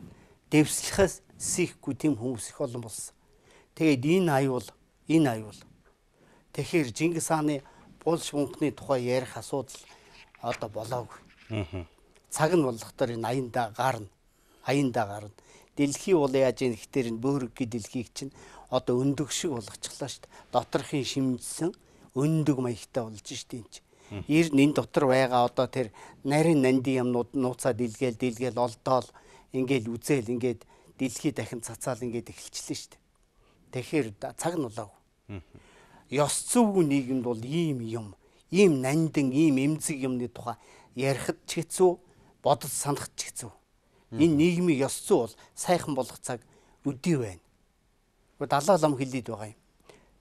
дэвслэхээс сийхгүй тийм хүмүүс их олон болсон. Тэгээд энэ аюул, энэ аюул. Тэгэхээр Чингис хааны булш бунхны тухай ярих асуудал одоо болоогүй. Цаг нь болохдоор энэ аяндаа гарна. Аяндаа гарна. Дэлхий бол яаж ийм ихтер энэ бөөрөг дэлхийг чинь одоо өндөг шиг болгочихлоо шүү дээ. Доторхын шимжсэн өндөг маягтай болж штэ энэ. Ер нь энэ дотор байгаа одоо тэр нарийн нандин юмнууд нууцаа дэлгээл дэлгээл олдоол ингээл үзэл ингээд дэлхий дахин цацаал ингээд эхэлчихлээ шүү дээ. Тэгэхээр цаг нь болоогүй. Ёс зүйн нийгэмд бол ийм юм, ийм нандин, ийм эмзэг юмны тухай ярихад ч хэцүү, бодож санахд ч хэцүү. Энэ нийгмийн ёс зүй бол сайхан болох цаг өдий байна. Гэхдээ далаа лам хэлээд байгаа юм.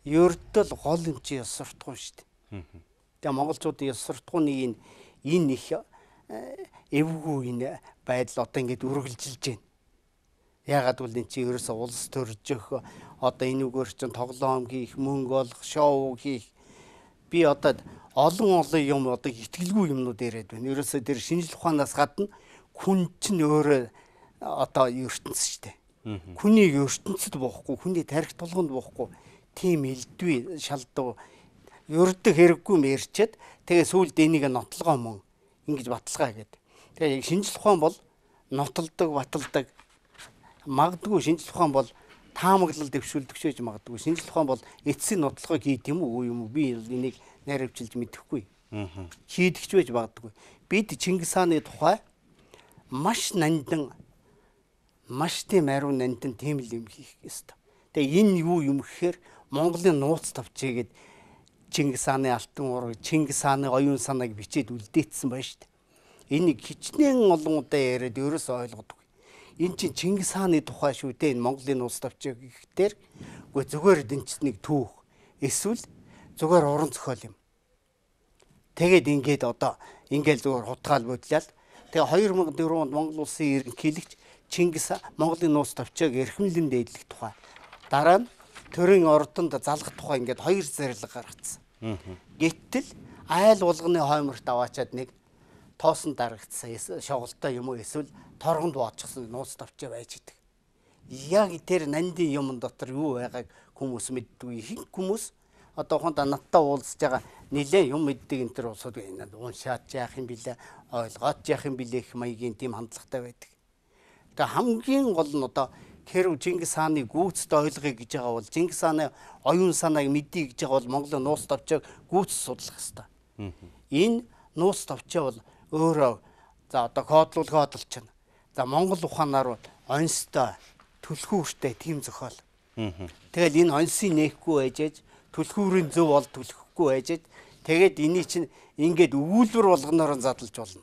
Ердөө гол юм чи ёс суртахуун шүү дээ. Тэгээ монголчуудын ёс суртахууны энэ энэ их эвгүй энэ байдал одоо ингээд үргэлжилж байна. Ягаад гэвэл энэ чи ерөөсө улс төржих одоо энүүгээр чинь тоглоом хийх, мөнгө олох, шоу хийх. Би одоо олон олон юм одоо итгэлгүй юмнууд яриад байна. Ерөөсө тэр шинжлэх ухаанаас гадна хүн чинь өөрөө одоо ертөнц шүү дээ. Хүний ертөнцид боохгүй, хүний тарих тулганд боохгүй тийм элдвээ шалдуу ердөө хэрэггүй мэрчээд тэгээ сүүлд энийг нотлогоо мөн ингэж баталгаа гэдэг. Тэгээ шинжлэх ухаан бол нотолдог, баталдаг. Магадгүй шинжлэх ухаан бол таамаглал дэвшүүлдэг ч гэж магадгүй. Шинжлэх ухаан бол эцсийн нотлогоо хийд юм уу юм уу би энийг найравчилж мэдэхгүй. Хийдэгч байж магадгүй. Бид Чингис хааны тухай маш нандин маш тийм ариун нандин тийм л юм хийх ёстой. Тэгээ энэ юу юм гэхээр Монголын нууц тавчигээд Чингис хааны алтан уурга, Чингис хааны оюун санааг бичээд үлдээсэн байна шүү дээ. Энийг хичнээн олон удаа яриад ерөөсөө ойлгодгүй. Энэ чинь Чингис хааны тухай шүү дээ. Энэ Монголын нууц тавчиг гэхтэр үгүй зүгээр дэнчнийг түүх. Эсвэл зүгээр уран зохиол юм. Тэгээд ингээд одоо ингээл зүгээр хутгаал бодлоо. Тэгээ хоёр мянга дөрөв онд Монгол улсын ерөнхийлөгч Чингис Монголын нууц тавчиг эрхэмлэн дээдлэх тухай. Дараа нь төрийн ордонд залгах тухай ингээд хоёр зэрлэг гаргацсан. Гэтэл айл булганы хойморт аваачаад нэг тоосон дарагдсан шоголтой юм уу эсвэл торгонд боочсон нууц тавчаа байж идэг. Яг тэр нандин юм дотор юу байгааг хүмүүс мэддгүй. Хин хүмүүс одоо ухаандаа надтай уулзж байгаа нэлээ юм мэддэг энэ төр улсууд энэ уншаад яах юм бэлээ, ойлгоод яах юм бэлээ их маягийн тийм хандлагатай байдаг. Тэгээ хамгийн гол нь одоо хэрв Чингис хааны гүйцэд ойлгоё гэж байгаа бол Чингис хааны оюун санааг мэдъя гэж байгаа бол Монголын нууц тавчааг гүйцэд судлах хэрэгтэй. Энэ нууц тавчаа бол өөрөө за одоо кодлуулга бодлчна. За Монгол ухаанаар бол онцтой түлхүүртэй тийм зохиол. Тэгэл энэ онцыг нээхгүй байжээж түлхүүрийн зөв бол түлхэхгүй байжээж тэгээд энийг чинь ингээд өвүүлбэр болгоноор задлж болно.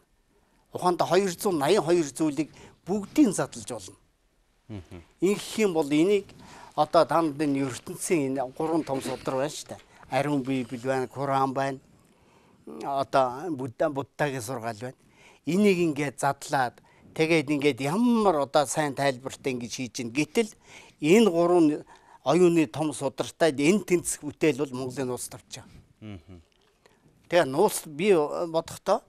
Ухаандаа хоёр зуун наян хоёр зүйлийг бүгдийг задлж болно. Ингэх юм бол энийг одоо танд энэ ертөнцийн энэ гурван том судар байна шүү дээ. Ариун Библи байна, Куран байна. Одоо Будда Буддагийн сургаал байна. Энийг ингээд задлаад тэгээд ингээд ямар одоо сайн тайлбартай ингэж хийж гин. Гэтэл энэ гурван оюуны том судартай энэ тэнцэх бүтээл бол Монголын нууц тавчаа. Тэгээ нууц би бодохдоо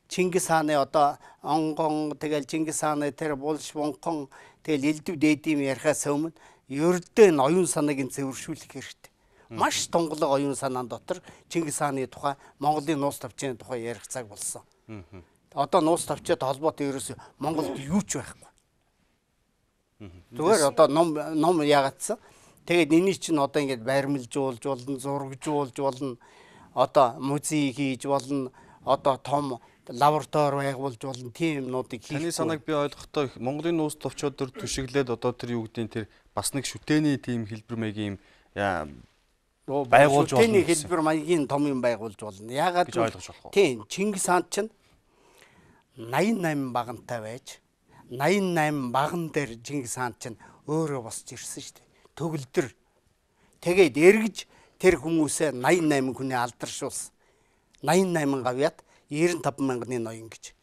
Чингис хааны одоо онгон тэгэл Чингис хааны тэр булш бунхан тэгэл элдв дээдэм ярихаас өмнө ердөө энэ оюун санааг нь цэвэршүүлэх хэрэгтэй. Маш тунгалаг оюун санаан дотор Чингис хааны тухай Монголын нууц тавчааны тухай ярих цаг болсон. Одоо нууц тавчаад холбоотой ерөөсөө Монголд юу ч байхгүй. Зүгээр одоо ном ном яагаадсан. Тэгээд энийг чинь одоо ингээд баримлжуулж болно, зурагжуулж болно. Одоо музей хийж болно. Одоо том лаборатори байгуулж болно. Тийм юмнуудыг хийх. Таны санааг би ойлгохдоо Монголын нууц товчоод төр түшиглээд одоо тэр юу гэдгийг тэр бас нэг шүтээний тийм хэлбэр маягийн байгуулж болно. Шүтээний хэлбэр маягийн том юм байгуулж болно. Яагаад гэж ойлгож болох уу? Тийм, Чингис хаан чинь восемь восемь багантай байж восемь восемь баган дээр Чингис хаан чинь өөрөө босч ирсэн шүү дээ. Төгөлдөр. Тэгээд эргэж тэр хүмүүсээ восемь восемь хүний алдаршуулсан. восемь восемь гавьяат девяносто пять мянганы ноён гэж.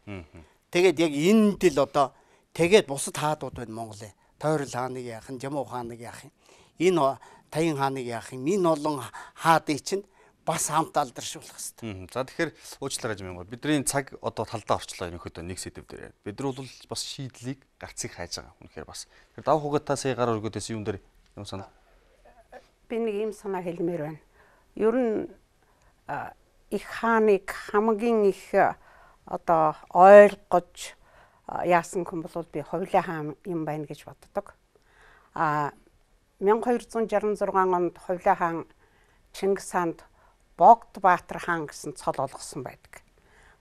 Тэгээд яг энэ дэл одоо тэгээд бусад хаадууд байна Монголын. Тойрол хааныг яах юм, Жамуу хааныг яах юм. Энэ Таян хааныг яах юм. Энэ олон хаадыг чинь бас хамт алдаршуулах хэрэгтэй. За тэгэхээр уучлаарай юм. Бидний цаг одоо талдаа орчлоо ерөнхийдөө нэг сэдв дээр. Бид нар бол бас шийдлийг гарцыг хайж байгаа. Үнэхээр бас. Тэр дав хугатаа сая гар өргөдөөс юм дээр юм санаа. Би нэг юм санаа хэлмээр байна. Ер нь их хааныг хамгийн их одоо ойлгож яасан хүн бол би Хувлаа хаан юм байна гэж боддог. А мянга хоёр зуун шарсан зургаан онд Хувлаа хаан Чингис хаанд Богд Баатар хаан гэсэн цол олгосон байдаг.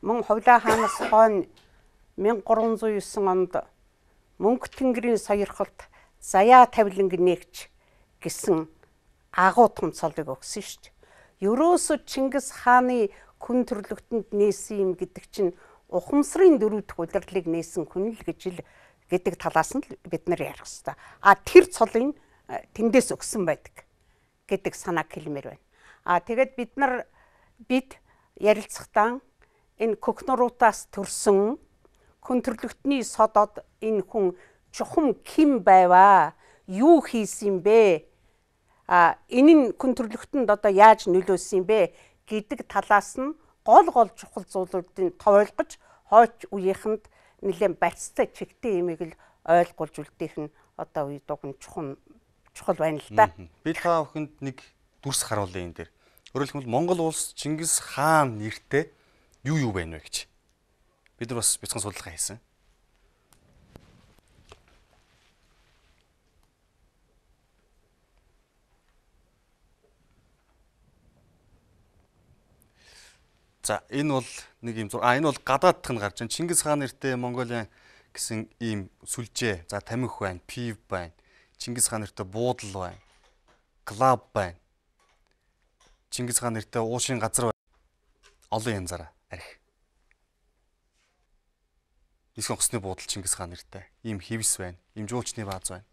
Мөн Хувлаа хаанаас хойно мянга гурван зуун девять онд Мөнх тэнгэрийн сойрхолд Заяа тавиланг нээгч гэсэн агуу том цолыг өгсөн шүү дээ. Ерөөсө Чингис хааны хүн төрлөختөнд нээсэн юм гэдэг чинь ухамсарын дөрөв дэх удирлыг нээсэн хүн л гэж л гэдэг талаас нь бид нар ярих хэрэгтэй. А тэр цолын тэндээс өгсөн байдаг гэдэг санааг хэлмээр байна. А тэгээд бид нар бид ярилцахтаа энэ Көхнуруудаас төрсөн хүн төрлөختний содод энэ хүн чухам ким байваа, юу хийсэн бэ? А энэ нь хүн төрлөختөнд одоо яаж нөлөөсөн бэ гэдэг талаас нь гол гол чухал зүйлүүдийг тойлгож хойч үеийнхэнд нэлээд барьцтай чигтэй юмыг л ойлгуулж үлдээх нь одоо үе дугн чухал чухал байна л да. Би та бүхэнд нэг дүрс харуулъя энэ дээр. Өөрөөр хэлбэл Монгол улс Чингис хаан нэртэй юу юу байна вэ гэж. Бид нар бас бяцхан судалгаа хийсэн. За энэ бол нэг юм зур. А энэ бол гадаадх нь гарч байна. Чингис хаан нэртэй Монголын гэсэн ийм сүлжээ. За тамхи байна, пив байна. Чингис хаан нэртэй буудал байна. Клуб байна. Чингис хаан нэртэй уушин газар байна. Олон янзаараа арх. Нисхэн хосны буудал Чингис хаан нэртэй. Ийм хивс байна. Ийм жуулчны бааз байна.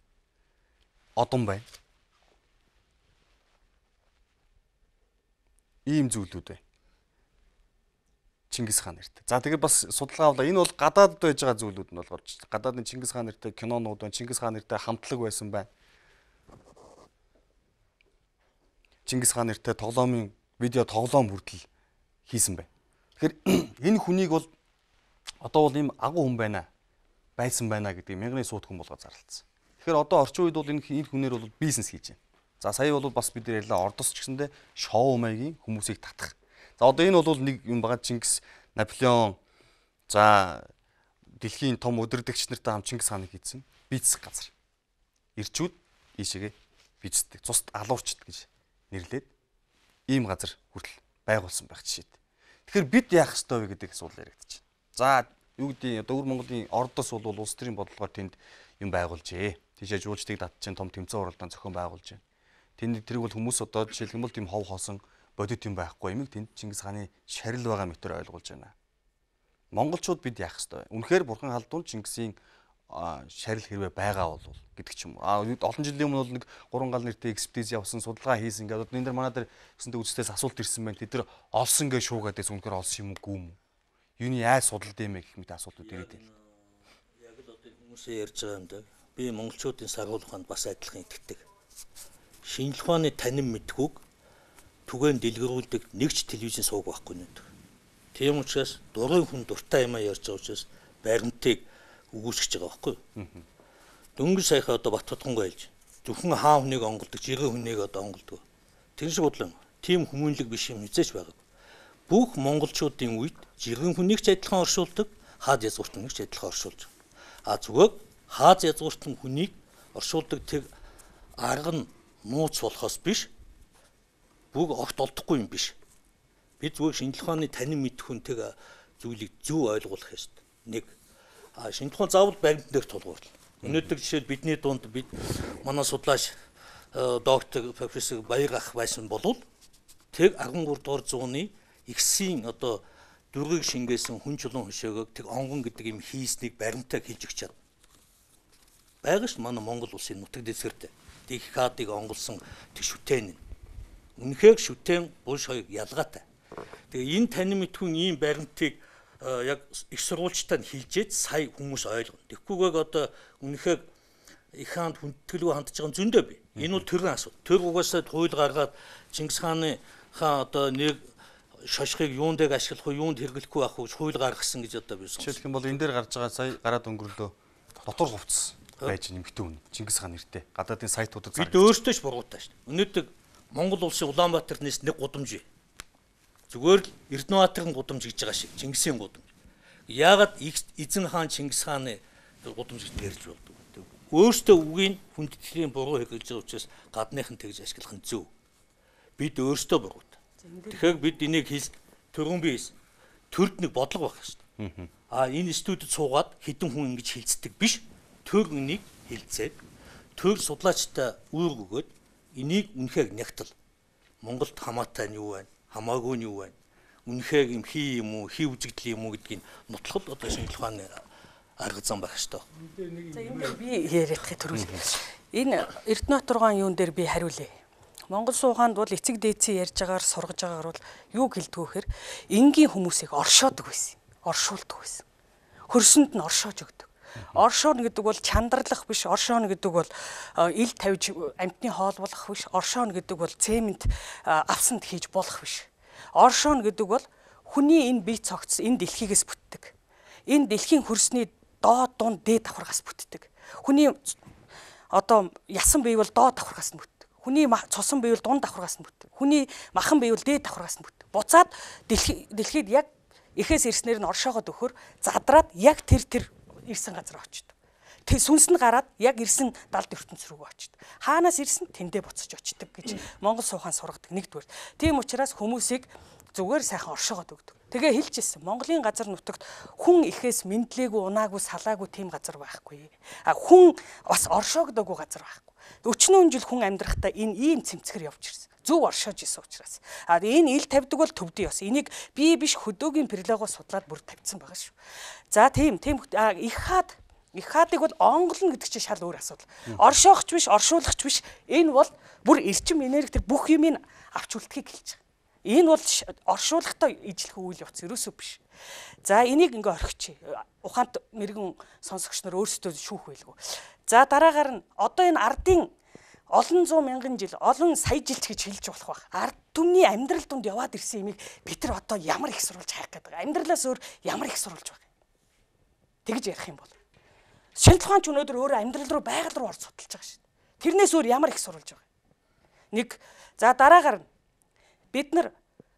Одон байна. Ийм зүйлүүд байна. Чингис хаан нэртэй. За тэгээд бас судалгаа авлаа. Энэ бол гадаадд байж байгаа зүйлүүд нь болохоор гадаадны Чингис хаан нэртэй кинонууд байна. Чингис хаан нэртэй хамтлаг байсан байна. Чингис хаан нэртэй тоглоомын видео тоглоом хүртэл хийсэн байна. Тэгэхээр энэ хүнийг бол одоо бол ийм агуу хүн байна. Байсан байна гэдэг мянганы сууд хүн болгоод зарлалцсан. Тэгэхээр одоо орчин үед бол энэ энэ хүнээр бол бизнес хийж байна. За сая бол бас бид нар ярьлаа Ордос ч гэсэндээ шоу маягийн хүмүүсийг татах. За одоо энэ бол нэг юм байгаа Чингис, Наполеон, за дэлхийн том өдөрдөгч нартай хам Чингис хааныг хийдсэн бизнес газар. Ирчүүд ийшээгээ бизнесдэг, цусд алуурчд гэж нэрлээд ийм газар хүртэл байгуулсан байх жишээд. Тэгэхээр бид яах ёстой вэ гэдэг асуулт яригдчих. За юу гэдэг одоо өвөр Монголын Ордос бол улс төрийн бодлогоор тэнд юм байгуулжээ. Тийшээ жуулчдыг татчихын том тэмцээн уралдаан зохион байгуулж байна. Тэнд тэрийг бол хүмүүс одоо жишээлх юм бол тийм хов хоосон бодит юм байхгүй юм. Тэнд Чингис хааны шарил байгаа мэтэр ойлгуулж байна. Монголчууд бид яах ёстой вэ? Үнэхээр бурхан халдвал Чингисийн шарил хэрвээ байгаа бол гэдэг ч юм уу. А олон жилийн өмнө бол нэг гурван гал нэртэй экспедиц явсан, судалгаа хийсэн. Ингээд энэ дэр манай дээр өсөнтэй үзэстээс асуулт ирсэн байна. Тэд нар олсон гэж шуугаад байсан. Үнэхээр олсон юм уу гүм үү? Юуны яаж судалд юм бэ гэх мэт асуултууд ирээд байна. Яг л одоо хүмүүсээ ярьж байгаа юм да. Би монголчуудын саргуулаханд бас адилхан итгэдэг. Шинжлэх ухааны танин мэдхүүг түгээн дэлгэрүүлдэг нэгч телевизэн сууг байхгүй нэ. Тийм учраас дурын хүн дуртай юм ярьж байгаа учраас баримтыг үгүйсгэж байгаа байхгүй. Дөнгөж саяхан одоо Баттутгангүй хэлж. Зөвхөн хаан хүнийг онголдог, жиргэн хүнийг одоо онголдог. Тэр шиг бодлоо. Тийм хүмүүнлэг биш юм хизээч байгаа. Бүх монголчуудын үед жиргэн хүнийг ч адилхан оршуулдаг, хаад язгууртныг ч адилхан оршуулж. А зүгээр хаад язгууртан хүнийг оршуулдаг тэр арга нь нууц болохоос биш. Бүгд огт олдохгүй юм биш. Бид зүгээр шинжлэх ухааны танин мэдэх хүнтэйг зүйлийг зөв ойлгуулах ёстой. Нэг а шинжлэх ухаан заавал баримт дээр тулгуурлаа. Өнөөдөр жишээл бидний дунд бид манай судлаач доктор профессор Баяр ах байсан болвол тэр арван гурав дугаар зууны X-ийн одоо дургийг шингээсэн хүн чулуун хөшөөгөөг тэг онгон гэдэг юм хийснийг баримтаа хэлж өгч чад. Байгаа ш манай Монгол улсын нутаг дэвсгэртэй. Тэг хадыг онголсон тэг шүтэн. Үнэхээр шүтэн булш хоёрыг ялгаатай. Тэгээ энэ танин мэдхүүн ийм баримтыг яг их сурвалжтай хилжээд сая хүмүүс ойлгоно. Тэгхгүйгээр одоо үнэхээр их хаанд хүндэтгэлгүй хандж байгаа зөндөө бий. Энэ бол төрийн асуудал. Төр угаасаа хууль гаргаад Чингис хааны хаа одоо нэг шошхыг юунд дэг ашиглах уу, юунд хэрэглэхгүй байх уу гэж хууль гаргасан гэж одоо би сонсон. Жишээлх юм бол энэ дээр гарч байгаа сая гараад өнгөрлөө дотор хувцас байж нэмэгдэн үн Чингис хаан нэртэй гадаадын сайтуудад бид өөрсдөө ч буруутай шүү дээ. Өнөөдөр Монгол улсын Улаанбаатар нийс нэг гудамж бий. Зүгээр л Эрдэнэбаатарын гудамж гэж байгаа шиг Чингисийн гудамж. Яагаад эзэн хаан Чингис хааны гудамж гэж ярьж болдог. Өөртөө үгийн хүндэтгэлийн буруу хэрэгжилж байгаа учраас гадныхан тэгж ашиглах нь зөв. Бид өөртөө буруутай. Тэгэхээр бид энийг хэл төрөн биес төрд нэг бодлого байх шүү дээ. А энэ студид суугаад хэдэн хүн ингэж хилцдэг биш. Төр энийг хилцээд төр судлаачтай үүрэг өгөөд энийг үнэхээр нягтал. Монголд хамаатай нь юу вэ? Хамаагүй нь юу вэ? Үнэхээр юм хий юм уу, хий үзэгдэл юм уу гэдгийг нотлоход одоо шинжлэх ухааны арга зам байх шүү дээ. За энэ дээр би яриадахыг төрүүл. Энэ Эрдэнэбаатар юун дээр би хариулъя. Монгол сууханд бол эцэг дээдсийн ярьж байгаагаар сургаж байгаагаар бол юу гэлдгүүхээр энгийн хүмүүсийг оршоодог байсан. Оршуулдаг байсан. Хөрсөнд нь оршоож өгдөг. Оршооно гэдэг бол чандарлах биш, оршооно гэдэг бол ил тавьж амьтны хоол болох биш, оршооно гэдэг бол цемент авсанд хийж болох биш. Оршооно гэдэг бол хүний энэ бие цогц энэ дэлхийгээс бүтдэг. Энэ дэлхийн хөрсний доод дунд дээд давхаргаас бүтдэг. Хүний одоо ясан бие бол доод давхаргаас нь бүтдэг. Хүний цусан бие бол дунд давхаргаас нь бүтдэг. Хүний махан бие бол дээд давхаргаас нь бүтдэг. Буцаад дэлхий дэлхийд яг эхээс ирснээр нь оршоогоод өгөхөр задраад яг тэр тэр ирсэн газар очдог. Тэг сүнс нь гараад яг ирсэн далд ертөнц рүү очдог. Хаанаас ирсэн тэндээ буцаж очдог гэж Монгол суухан сургадаг нэгдүгээр. Тийм учраас хүмүүсийг зүгээр сайхан оршоогоод өгдөг. Тэгээ хэлчихсэн Монголын газар нутагт хүн ихээс мэдлээгүй, унаагүй, салаагүй тийм газар байхгүй. А хүн бас оршоогдоогүй газар байхгүй. Өчнөө жил хүн амьдрахтаа энэ ийм цэмцгэр явж ирсэн. Зөв оршоож исэн учраас. А энэ ил тавьдаг бол төвдөө бас. Энийг би биш хөдөөгийн перлогоо судлаад бүр тавьсан байгаа шүү. За тийм тийм их хаад их хаадыг бол онголно гэдэг чинь шал өөр асуудал. Оршоохч биш, оршуулагч биш. Энэ бол бүр эрчим энерги тэр бүх юмыг авч үлдэхийг хэлж байгаа. Энэ бол оршуулгатай ижлэх үйл явц ерөөсөө биш. За энийг ингээ орхичих. Ухаант мэрэгэн сонсогч нар өөрсдөө шүүх байлгүй. За дараагаар нь одоо энэ ардын олон зуун мянган жил, олон сая жил гэж хэлж болох байх. Ард түмний амьдрал донд яваад ирсэн юмыг бид нар одоо ямар их сурвалж хайх гэдэг. Амьдралаас өөр ямар их сурвалж байх. Тэгж ярих юм бол. Шинжлэх ухаанч өнөөдөр өөрөө амьдрал руу байгаль руу орж судалж байгаа шүү дээ. Тэрнээс өөр ямар их сурвалж байгаа. Нэг за дараагаар нь бид нар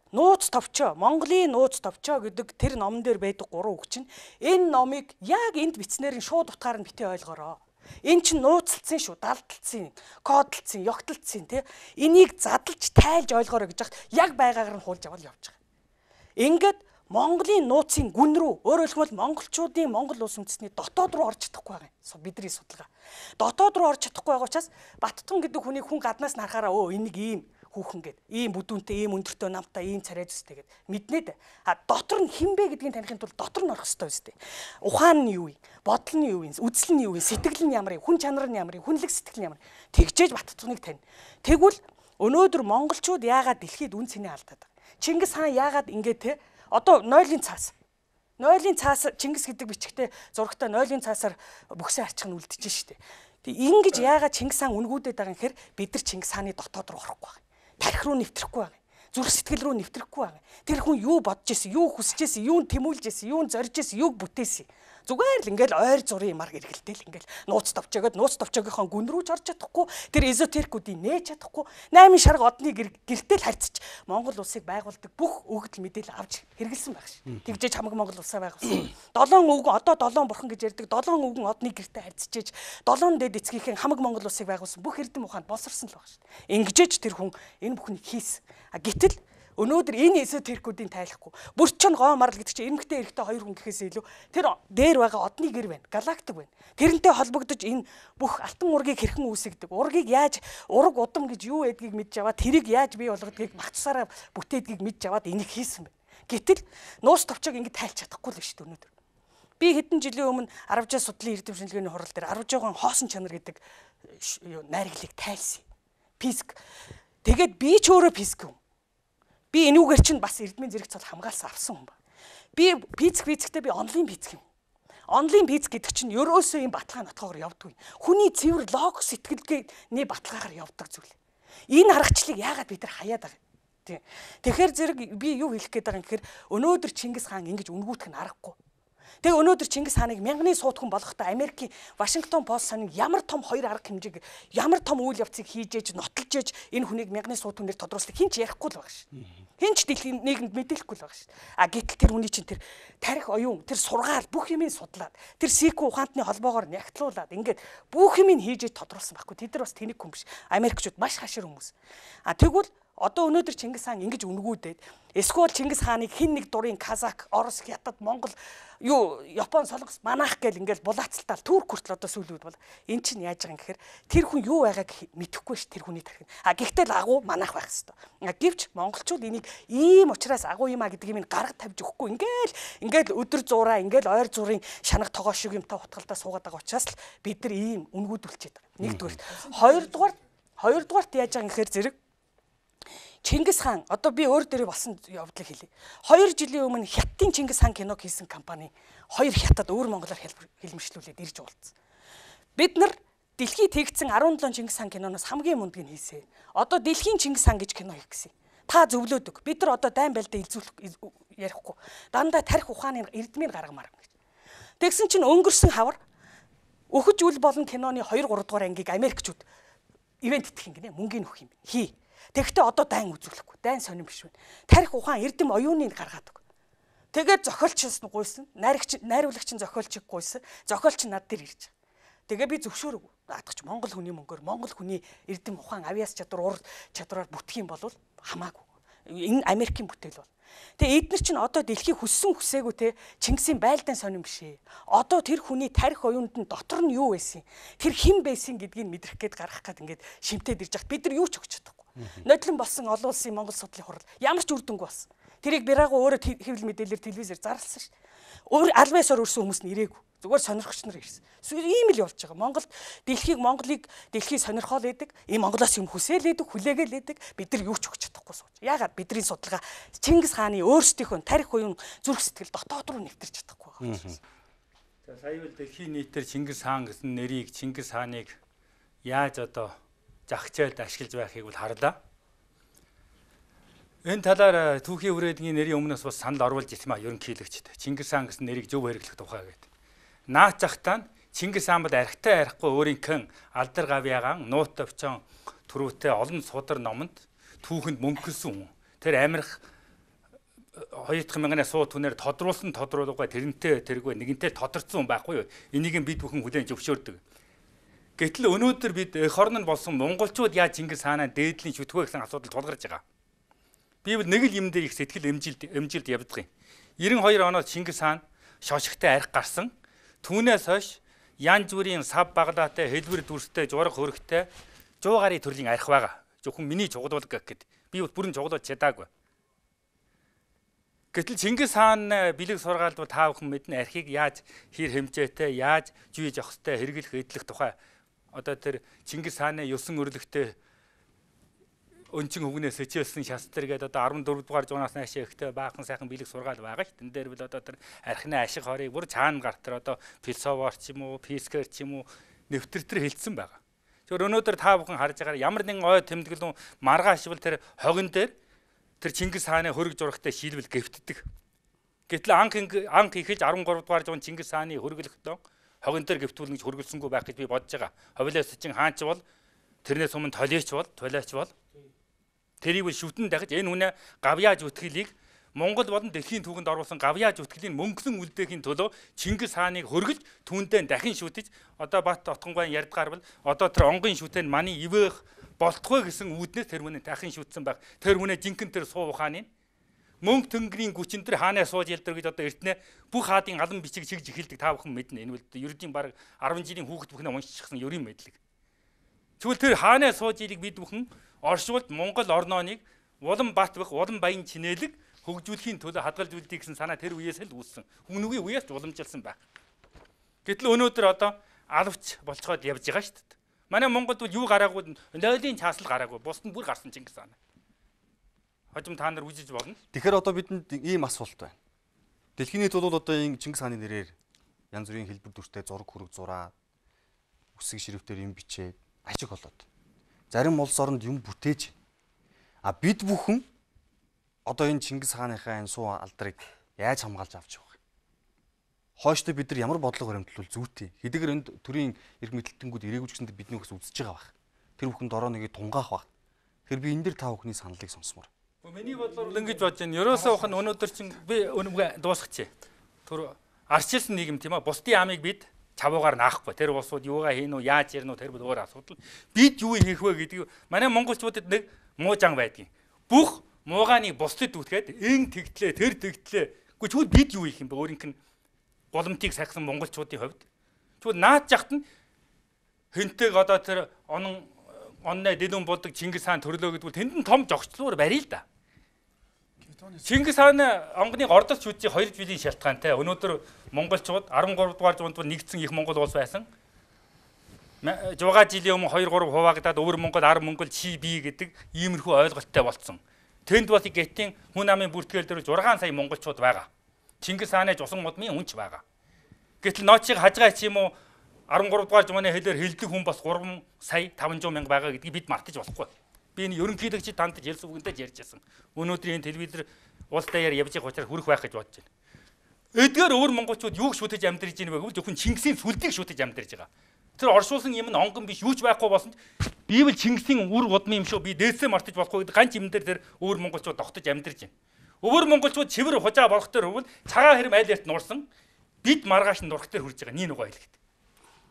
нууц товчоо, Монголын нууц товчоо гэдэг тэр номон дээр байдаг гурван үг чинь энэ номыг яг энд бичснээр нь шууд утгаар нь битээ ойлгоорой. Энэ чинь нууцлцсан шүү, далдалцсан, кодлцсан, ёгтлцсан тий. Энийг задлж тайлж ойлгоорой гэж яг байгаагаар нь хуулж авал явж байгаа. Ингээд Монголын нууцын гүн рүү өөрөөр хэлбэл монголчуудын Монгол улс үндэстний дотоод руу орж чадахгүй байгаа юм. Бидний судалгаа. Дотоод руу орж чадахгүй байгаа учраас Баттун гэдэг хүний хүн гаднаас нь харахаараа өө энийг ийм хүүхэн гээд ийм бүдүүнтэй, ийм өндөртэй намтай, ийм царай зүстэй гээд мэднэ дээ. А дотор нь хинбэ гэдгийг таних тулд дотор нь орох хэрэгтэй үстэй. Ухаан нь юу юм? Бодол нь юу юм? Үзэл нь юу юм? Сэтгэл нь ямар юм? Хүн чанар нь ямар юм? Хүнлэг сэтгэл нь ямар юм? Тэгжээж Баттуныг тань. Тэгвэл өнөөдөр монголчууд яагаад дэлхийд үн цэнэ алдаад байгаа? Чингис хаан яагаад ингээд те одоо нойлын цаас. Нойлын цаас Чингис гэдэг бичгтээ зурагтай нойлын цаасаар бүхсээ арчих нь үлдэж штэ. Тэг ингэж яагаад Чингис хаан үнгүүдэд байгаа юм гэхээр бид нар Чингис хааны дотоод руу орохгүй байна. Тарих руу нэвтрэхгүй байгаа. Зүрх сэтгэл рүү нэвтрэхгүй байгаа. Тэр хүн юу бодож исэн, юу хүсэж исэн, юунд тэмүүлж исэн, юунд зорж исэн, юуг бүтээсэн. Зүгээр л ингээл ойр зургийн юмар эргэлдээл ингээл нууц товчоогоод нууц товчоогийнхоо гүн рүү ч орж чадахгүй, тэр эзотерикуудыг нээж чадахгүй, найман шарга одны гэртэл харьцаж Монгол улсыг байгуулдаг бүх өгөгдөл мэдээлэл авч хэрэгэлсэн байх ш. Тэгжээж хамаг Монгол улсаа байгуулсан. Долоон өвгөн одоо долоон бурхан гэж ярьдаг, долоон өвгөн одны гэртэл харьцаж, долоон дэд эцгийнхэн хамаг Монгол улсыг байгуулсан бүх эрдэм ухаанд боловсрсон л байх ш. Ингэжээж тэр хүн энэ бүхнийг хийсэн. А гэтэл өнөөдөр энэ эзотерикуудын тайлахгүй. Бүрчэн гоо марл гэдэг чинь эмгтэй эрэгтэй хоёр хүн гэхээс илүү тэр дээр байгаа одны гэр байна, галактик байна. Тэрнтэй холбогдож энэ бүх алтан ургийг хэрхэн үүсгдэг, ургийг яаж ураг удам гэж юу байдгийг мэдж аваад тэрийг яаж бий болгодгийг багцсаараа бүтээдгийг мэдж аваад энийг хийсэн байна. Гэтэл нуус товчоог ингэ тайлж чадахгүй л биш дээ өнөөдөр. Би хэдэн жилийн өмнө Арвжаа судлалын эрдэм шинжилгээний хурал дээр Арвжаагийн хоосон чанар гэдэг найрагдлыг тайлсан. Физик. Тэгээд би ч өөрөө физик юм. Би энүүгээр чинь бас эрдмийн зэрэг цол хамгаалсан авсан хүн ба. Би физик физиктэй би онлайн физик юм. Онлайн физик гэдэг чинь ерөөсөө юм баталгаа нотгоогоор явдаггүй. Хүний цэвэр логик сэтгэлгээний баталгаагаар явдаг зүйл. Энэ аргачлалыг яагаад бид нар хаяад байгаа юм? Тийм. Тэгэхээр зэрэг би юу хэлэх гээд байгаа юм гэхээр өнөөдөр Чингис хаан ингэж үнгүүтэх нь аргагүй. Тэгээ өнөөдөр Чингис хааныг мянганы сууд хүн болгохдоо Америкийн Вашингтон пост саныг ямар том хоёр арга хэмжээг ямар том үйл явцыг хийж ээж нотолж ээж энэ хүнийг мянганы сууд хүнээр тодруулсныг хин ч ярихгүй л байгаа шүү. Хин ч дэлхийн нийгэмд мэдээлэхгүй л байгаа шүү. А гэтэл тэр хүний чинь тэр тарих оюун, тэр сургаал бүх юмыг судлаад, тэр сикү ухаантны холбоогоор нягтлуулаад ингээд бүх юмыг хийж ээж тодруулсан байхгүй. Тэд нар бас тэнэг хүн биш. Америкчууд маш хашир хүмүүс. А тэгвэл одоо өнөөдөр Чингис хаан ингэж үнгүүдээд эсвэл Чингис хааныг хин нэг дурын Казак, Орос, Хятад, Монгол, юу Япон, Солонгос манайх гэл ингээл булаацалтаал Турк хүртэл одоо сүүлүүд бол эн чинь яаж байгаа юм гэхээр тэр хүн юу байгааг мэдэхгүй ш тэр хүний тархин. А гэхдээ л агуу манайх байх хэвээр. Гэвч монголчууд энийг ийм учраас агуу юм а гэдэг юм гарга тавьж өгөхгүй ингээл ингээл өдөр зураа ингээл ойр зурын шанаг тогоо шиг юмтай утгалдаа суугаад байгаа учраас л бид нар ийм үнгүүдүүлчихэд байгаа. Нэгдүгээр. Хоёрдугаар хоёрдугаарт яаж байгаа юм гэхээр зэрэг Чингис хаан одоо би өөр дээрээ болсон явдлыг хэлье. Хоёр жилийн өмнө Хятадын Чингис хаан киног хийсэн компани хоёр хятад өөр монголоор хэлмэршлүүлээд ирж уулзсан. Бид нар дэлхийд тэгсэн арван долоо Чингис хаан киноноос хамгийн мундгийг хийсэн. Одоо дэлхийн Чингис хаан гэж кино хийх гэсэн. Та зөвлөөдөг. Бид нар одоо дайн байлдаа илзүүлэх ярихгүй. Дандаа тарих ухааны эрдмийг гаргамаар гэж. Тэгсэн чинь өнгөрсөн хавар өхөж үл болон киноны хоёр гурав дугаар ангийг Америкчууд ивент итгэх юм гинэ мөнгөний өгөх юм хий. Тэгэхдээ одоо дайн үзүүлэхгүй. Дайн сонирн биш байна. Тарих ухаан эрдэм оюуныг гаргаад өг. Тэгээд зохиолчс нь гуйсан, найрагч найруулагч нь зохиолчийг гуйсан. Зохиолч над дээр ирж байгаа. Тэгээ би зөвшөөрөв. Даадгач Монгол хүний мөнгөөр Монгол хүний эрдэм ухаан авьяас чадвар ур чадвараар бүтэх юм бол хамаагүй. Энэ Америкийн бүтээл бол. Тэгээ эдгээр чинь одоо дэлхий хүссэн хүсээгүй те Чингисийн байлдаан сонирн биш ээ. Одоо тэр хүний тарих оюунд нь дотор нь юу байсан? Тэр хэн байсан гэдгийг мэдрэх гээд гаргах гээд ингээд шимтээд ирж хат бид нар юу ч өгч чадахгүй. Нодлон болсон олон улсын Монгол судлалын хурал ямар ч үр дүнгүй болсон. Тэрийг бираагүй өөрөө хэвлэл мэдээлэлээр телевизээр зарласан шүү. Өөр албаасаар өрсөн хүмүүс нь ирээгүй. Зүгээр сонирхогч нар ирсэн. Ийм л болж байгаа. Монголд дэлхийг Монголыг дэлхий сонирхол байдаг. Ийм Монголоос юм хүсээл байдаг, хүлээгээл байдаг. Бид нар юу ч өгч чадахгүй сууж. Яагаад бидний судалгаа Чингис хааны өөрсдийнхөө тарих уян зүрх сэтгэл дотоод руу нэвтэрч чадахгүй байгаа юм. За сая үл дэлхийн нийтээр Чингис хаан гэсэн нэрийг Чингис хааныг яаж одоо загчаалд ашиглаж байхыг бол харлаа. Энэ талаар түүхийн үрээдгийн нэрийн өмнөөс бас санал оруулж ирсэн ба ерөнхийлөгчд. Чингис хаан гэсэн нэрийг зөв хэрэглэх тухай гэдэг. Наац захтаа Чингис хаан бол архитай арахгүй өөрийнхөө алдар гавьяагаан нуут төвчөн түрүүтэй олон судар номонд түүхэнд мөнгөсөн хүн. Тэр амирх хоёр дахь мянганы сууд хүнээр тодруулсан тодруулга тэрнтэй тэргүй нэгэнтэй тодорцсон байхгүй юу? Энийг бид бүхэн хүлээн зөвшөөрдөг. Гэтэл өнөөдөр бид эх орн нь болсон монголчууд яаж Чингис хаанаа дээдлийн шүтгөө гэсэн асуудал тулгарч байгаа. Би бол нэг л юм дээр их сэтгэл эмжилд эмжилд явдаг юм. девяносто хоёр оноос Чингис хаан шошигтой арх гарсан. Түүнээс хойш янз бүрийн сав баглаатай, хэлбэр дүрстэй, жураг хөрөгтэй сто гаруй төрлийн арх байгаа. Зөвхөн миний чугуулга гэхэд би бол бүрэн чугуулж чадаагүй. Гэтэл Чингис хаан бэлэг сургаалд бол та бүхэн мэднэ архийг яаж хэр хэмжээтэй, яаж жүйж явах хэвтэй хэрэглэх эдлэх тухай одоо тэр Чингис хааны ёсон өрлөгтэй өнчин хөвгнээс хичээлсэн шастар гэдэг одоо арван дөрөв дугаар зуунаас наашаа ихтэй баахан сайхан бэлэг сургаал байгаа ш. Тэн дээр бол одоо тэр архины ашиг хорыг бүр цаана гар тэр одоо философор ч юм уу, физикэр ч юм уу нэвтэр тэр хэлсэн байгаа. Тэгэхээр өнөөдөр та бүхэн харж байгаа ямар нэгэн ой тэмдэглэн маргааш бол тэр хогон дээр тэр Чингис хааны хөрөг зурагтай шийдвэл гэвтдэг. Гэтэл анх анх ихэж арван гурав дугаар зуун Чингис хааны хөргөлөхдөө хогон дээр гэвтүүлнэ гэж хөргөлсөнгүй байх гэж би бодож байгаа. Ховлоос чинь хаанч бол тэрнээс өмнө толиоч бол, толиоч бол тэрийг бол шүтэн дахиж энэ хүнээ гавьяаж үтгэлийг Монгол болон дэлхийн түүхэнд оруулсан гавьяаж үтгэлийн мөнгөсөн үлдээхийн төлөө Чингис хааныг хөргөж түүндээ дахин шүтэж одоо Бат Отгонгойн ярьдгаар бол одоо тэр онгын шүтэн маний ивэх болтгой гэсэн үүднээс тэр хүнээ дахин шүтсэн байх. Тэр хүнээ жинхэнэ тэр суу ухааны мөнгө тэнгэрийн гүчин тэр хаанаа сууж ялдар гэж одоо эртнэ бүх хаадын алан бичиг чигж эхэлдэг та бүхэн мэднэ. Энэ бол ердийн баг арван жилийн хүүхэд бүхнээ уншчихсан ерийн мэдлэг. Тэгвэл тэр хаанаа сууж ирийг бид бүхэн оршуулд Монгол орноныг улам бат бах улам баян чинээлэг хөгжүүлэхийн төлөө хадгалжуулдгийг гэсэн санаа тэр үеэс л үүссэн. Үнэгүй үеэс ч уламжилсан байх. Гэтэл өнөөдөр одоо алавч болцоход явж байгаа шүү дээ. Манай Монголд бол юу гараагүй, нойлын цаасл гараагүй, бусд нь бүр гарсан Чингис хаан. Хожим та нар үжиж болно. Тэгэхээр одоо бидэнд ийм асуулт байна. Дэлхийн нийт бол одоо энэ Чингис хааны нэрээр янз бүрийн хэлбэр дүртэй зураг хүрэг зураа, үсэг ширхтээр юм бичээд ажиг болоод. Зарим улс оронд юм бүтээж. А бид бүхэн одоо энэ Чингис хааныхаа энэ суу алдрыг яаж хамгаалж авч байгаа? Хойштой бид нар ямар бодлого баримтлал зүйтэй. Хэдийгээр энд төрийн эрх мэдэлтэнгүүд ирээгүй ч гэсэндээ бидний бас үзэж байгаа байх. Тэр бүхэнд ороо нэгийг тунгаах байх. Тэгэхээр би энэ дэр та бүхний саналыг сонсмоор. Миний бодлоор ингэж бодож байна. Ерөөсөө ухаан өнөөдөр чинь би өнөмгөө дуусгачих. Тэр арчилсан нийгэм тийм ээ. Бусдын амийг бид чавуугаар наахгүй. Тэр улсууд юугаа хийн үү, яаж ярина уу, тэр бүр өөр асуудал. Бид юу хийх вэ гэдгийг манай монголчуудад нэг муу зан байдгийн. Бүх муугааныг бусдад үтгээд эн тэгтлээ, тэр тэгтлээ. Гэхдээ чүүд бид юу хийх юм бэ? Өөрийнх нь голомтыг сахисан монголчуудын хувьд. Чүүд наад жахт нь хэнтэйг одоо тэр онон онноо дэлүн болдог Чингис хаан төрлөө гэдгүүл тэнд нь том жогцлуур барил л да. Чингис хааны онгоны ордос шүтжийн хоёр жилийн шалтгаантай өнөөдөр монголчууд арван гурав дугаар зуунд нэгдсэн их монгол улс байсан. Жугаа жилийн өмнө хоёр гурав хуваагдаад өвөр монгол ар монгол чи би гэдэг иймэрхүү ойлголттой болцсон. Тэнд бас гетийн хүн амын бүртгэл дээр зургаан сая монголчууд байгаа. Чингис хааны жусан модмын үнч байгаа. Гэтэл ноочиг хажгаа ч юм уу арван гурав дугаар зууны хэлээр хэлдэг хүн бас гурван сая таван зуун мянга байгаа гэдгийг бид мартаж болохгүй. Би энэ ерөнхийлөгчид танд хэлс үгэндээ ярьж байсан. Өнөөдөр энэ телевизээр улс даяар явж байгаа учраас хүрэх байх гэж бодож байна. Эдгээр өөр монголчууд юуг шүтэж амьдарч ийн вэ гэвэл зөвхөн Чингисийн сүлдийг шүтэж амьдарч байгаа. Тэр оршуулсан юм нь онгон биш юу ч байхгүй болсон ч бивэл Чингисийн үр удмын юм шүү. Би дээдсээ мартаж болохгүй гэдэг ганц юм дээр тэр өөр монголчууд тогтож амьдарч байна. Өөр монголчууд чивэр хужаа болох төр хөвөл цагаан хэрэм айл ярт нуурсан. Бид маргааш нь нурах төр хүрж байгаа. Нин угаа хэлэхэд.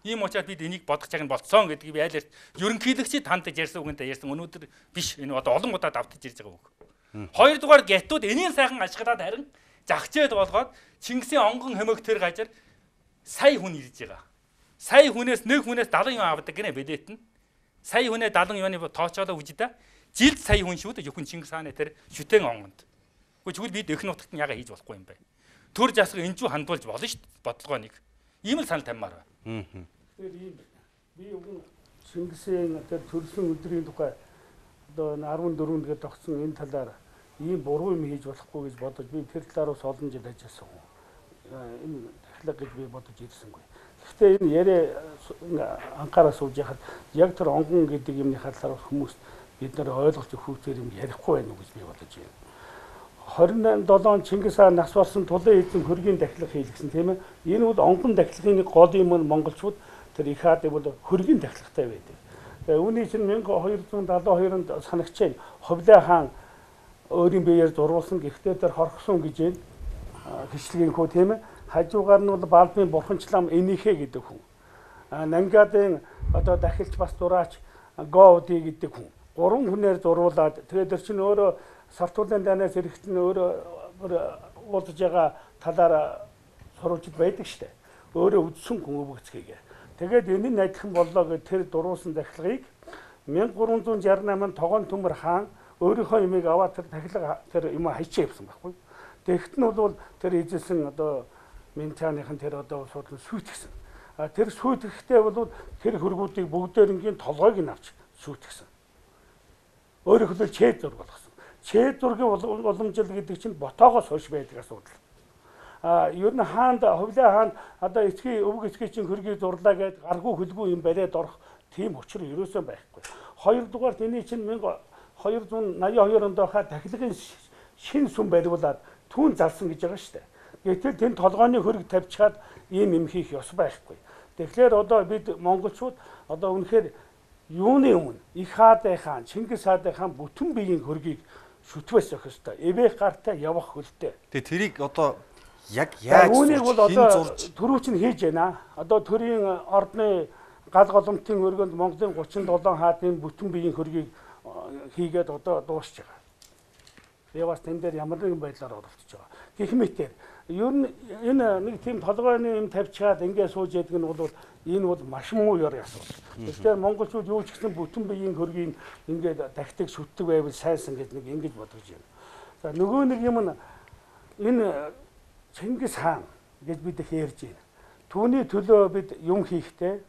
Ийм учраас бид энийг бодох цаг нь болцсон гэдгийг би айл ярт ерөнхийлөгчид тандаж ярьсан үгэнтэй ярьсан. Өнөөдөр биш энэ одоо олон удаа давтаж ирж байгаа үг. Хоёрдугаар гятууд энийн сайхан ашиглаад харин загчээд болгоод Чингисийн онгон хэмээг тэр гажаар сая хүн ирж байгаа. Сая хүнээс нэг хүнээс дагалан юм авдаг гинэ билет нь. Сая хүнээ дагалан юуны тоочоолоо үжидэ. Жилд сая хүн шүү дээ. Зөвхөн Чингис хааны тэр шүтэн онгонд. Тэгвэл бид эх нутагт нь яга хийж болохгүй юм бэ? Төр засаг энэ ч хандуулж болно шүү дээ. Бодлогоо нэг. Ийм л санал таммаар байна. Тэгэхээр ийм би өгөн Чингисийн тэр төрсөн өдрийн тухай одоо арван дөрөв гээд тогтсон энэ талаар ийм буруу юм хийж болохгүй гэж бодож би тэр талаар бас олон жил ажилласан хүн. Энэ дахлаг гэж би бодож ирсэнгүй. Гэхдээ энэ яриа анхаараа сууж яхад яг тэр онгон гэдэг юмны талаар хүмүүс бид нар ойлгож өгөхөөр юм ярихгүй байна уу гэж би бодож байна. хорин долоо он Чингис хаан нас барсан тулын эзэн хөргийн дахилга хийлгсэн тийм ээ. Энэ бол онгон дахилгын нэг гол юм нь монголчууд тэр их хаад бол хөргийн дахилгатай байдаг. Тэгээ үүний чинь мянга хоёр зуун далуу хоёрт санагчаа Ховлын хаан өөрийн биеэр зурулсан гэхдээ тэр хорхсон гэж байна. Хичлэгийн хөө тийм ээ. Хажуугаар нь бол Балбын бурханчлам энийхэ гэдэг хүн. Нангадын одоо дахилч бас дураач Гоуди гэдэг хүн. Гурван хүнээр зурулаад тэгээд тэр чинь өөрөө Сартуулын данаас эрэхтэн өөрөө уулзж байгаа талаар сурвалжид байдаг штэ. Өөрөө үдсэн хүн өвгцгийг. Тэгээд энэ нь адилхан боллоо гэж тэр дуруулсан дахилгыг мянга гурван зуун шарнамын онд Тогоон Төмөр хаан өөрийнхөө юмыг аваад тэр дахилга тэр юм хайчаа явсан байхгүй. Тэгэхэд нь бол тэр эзэлсэн одоо Минчааныхан тэр одоо суудлын сүйтгэсэн. А тэр сүйтгэхдээ бол тэр хөргүүдийг бүгдээрнгийн толгойг нь авч сүйтгэсэн. Өөрөөр хэлбэл чэд зураг болгосон. Чэд зургийн уламжил гэдэг чинь ботоогоос хойш байдаг асуудал. А ер нь хаанд Ховлын хаан одоо эцгийн өвөг эцгийн чинь хөргийг зурлаа гэд гаргүй хөлгүй юм бариад орох тийм учир ерөөсөө байхгүй. Хоёрдугаар тэний чинь хоёр зуун наяа хоёр онд байхад дахилгын шин сүм бариулаад түүн залсан гэж байгаа шүү дээ. Гэтэл тэнд толгойн хөрөг тавьчихад ийм юм хийх ёс байхгүй. Тэгэхээр одоо бид монголчууд одоо үнэхээр юуны өмнө их хаадын хаан, Чингис хаадын хаан бүтэн биеийн хөргийг шүтвэс өгөх ёстой. Эвэх гартай явах хөлтэй. Тэгээ тэрийг одоо яг яаж үүнийг бол одоо төрүүч нь хийж байна. Одоо төрийн ордны гал голомтын өргөнд Монголын гучин долоон хаадын бүтэн биеийн хөргийг хийгээд одоо дуусч байгаа. Би бас тэн дээр ямар нэгэн байдлаар оролцож байгаа. Гэх мэтээр ер нь энэ нэг тийм толгойн юм тавьчихад ингээд сууж ядг нь бол энэ бол маш муу ёр асуудал. Тэгэхээр монголчууд юу ч гэсэн бүтэн биеийн хөргийг ингээд дахтыг шүтдэг байвал сайнсан гэдэг нэг ингэж бодож байна. За нөгөө нэг юм нь энэ Чингис хаан гэж бид их ярьж байна. Түүний төлөө бид юм хийхдээ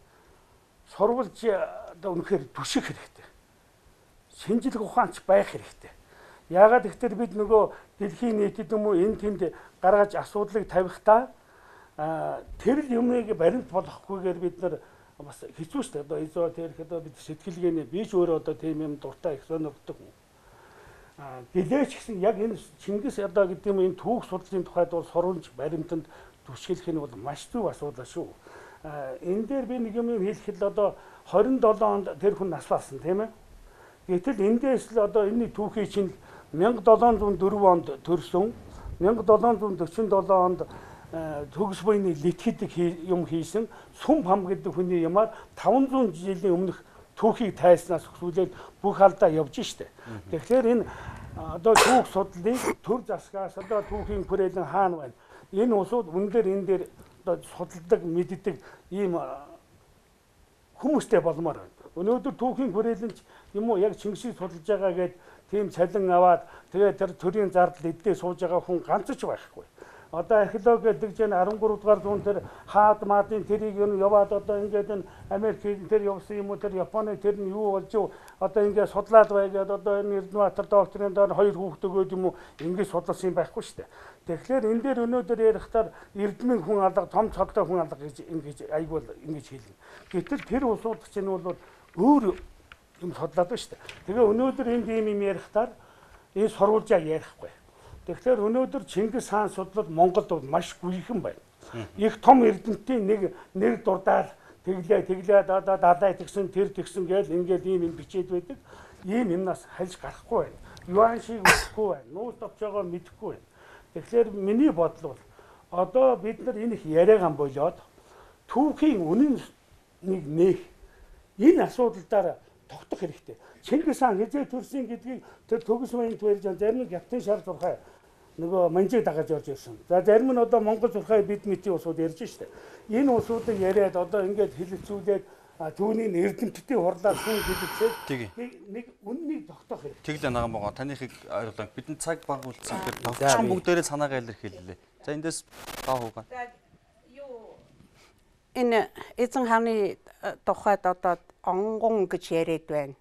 сурвалж одоо үнэхээр түших хэрэгтэй. Шинжлэх ухаанч байх хэрэгтэй. Яагаад гэвэл бид нөгөө дэлхийн нийтэд юм уу энэ тэнд гаргаж асуудлыг тавихтаа тэр юмыг баримт болгохгүйгээр бид нар бас хэцүү шүү дээ. Одоо эзотерик одоо бид сэтгэлгээний биш өөрөө одоо тийм юм дуртай их сонирхдаг хүн. А гэлээч гэсэн яг энэ Чингис одоо гэдэг юм энэ түүх судлалын тухайд бол сурвалж баримтанд түшгэлэх нь бол маш зөв асуудал шүү. А энэ дээр би нэг юм хэлэхэд одоо хорин долоо онд тэр хүн нас барсан тийм ээ. Гэтэл эндээс л одоо энэний түүхий чинь мянга долоон зуун дөрвөн онд төрсөн, мянга долоон зуун дөрвөн долоо онд төгс буйны литгэдэг юм хийсэн Сүм хам гэдэг хүний юмар таван зуун жилийн өмнөх түүхийг тайснаас өсвөлээд бүх алдаа явж штэ. Тэгэхээр энэ одоо түүх судлалыг төр засгаас одоо түүхийн хүрээлэн хаана байна? Энэ улсууд үнээр энэ дээр одоо судалдаг, мэддэг ийм хүмүүстэй болмоор байна. Өнөөдөр түүхийн хүрээлэнч юм уу яг Чингисийг судалж байгаа гэд тийм цалин аваад тэгээд тэр төрийн зардал эддээ сууж байгаа хүн ганц ч байхгүй. Одоо археологи гэдэг чинь арван гурав дугаар зуун тэр хаад маадын тэрийг юу яваад одоо ингээд энэ Америкийн тэр явсан юм уу тэр Японы тэр нь юу болж юу одоо ингээд судлаад байгаад одоо энэ Эрдэнэбаатар докторийн доор хоёр хүүхэд өгөөд юм уу ингээд судласан юм байхгүй шүү дээ. Тэгэхээр энэ дээр өнөөдөр ярихтаар эрдмийн хүн алга том цолтой хүн алга гэж ингэж айгуул ингэж хэлнэ. Гэтэл тэр улсууд чинь бол өөр юм судлаад байна шүү дээ. Тэгээ өнөөдөр энд ийм юм ярихтаар энэ сурвалжаа ярихгүй. Тэгэхээр өнөөдөр Чингис хаан судлал Монголд маш гүйхэн байна. Их том эрдэмтдийн нэг нэр дурдаал тэглээ тэглээ одоо далай тэгсэн тэр тэгсэн гээл ингээд ийм юм бичээд байдаг. Ийм юмнаас хальж гарахгүй байна. Юан шиг үсэхгүй байна. Нууц товчоогоо мэдэхгүй байна. Тэгэхээр миний бодол бол одоо бид нар энэ их яриаган болоод түүхийн үнэн нэг нээх энэ асуудалдаар тогтох хэрэгтэй. Чингис хаан хизээ төрсөн гэдгийг тэр төгс баян төрж зарим нь Гятын шар зурхай нөгөө манжиг дагаж орж ирсэн. За зарим нь одоо Монгол зурхай бид мэтийн усууд ярьж штэ. Энэ усуудыг яриад одоо ингээд хэлэлцүүлээд түүний эрдэмтдийн хурлаар хүн хэлэлцээд нэг үннийг тогтоох хэрэгтэй. Тэглээ наган байгаа. Танихыг ойлголоо. Бидний цаг баг үлдсэн. Товчхон бүгдээрээ санаагаа илэрхийллээ. За эндээс гоо хуугаа. Энэ эзэн хааны тухайд одоо онгон гэж яриад байна.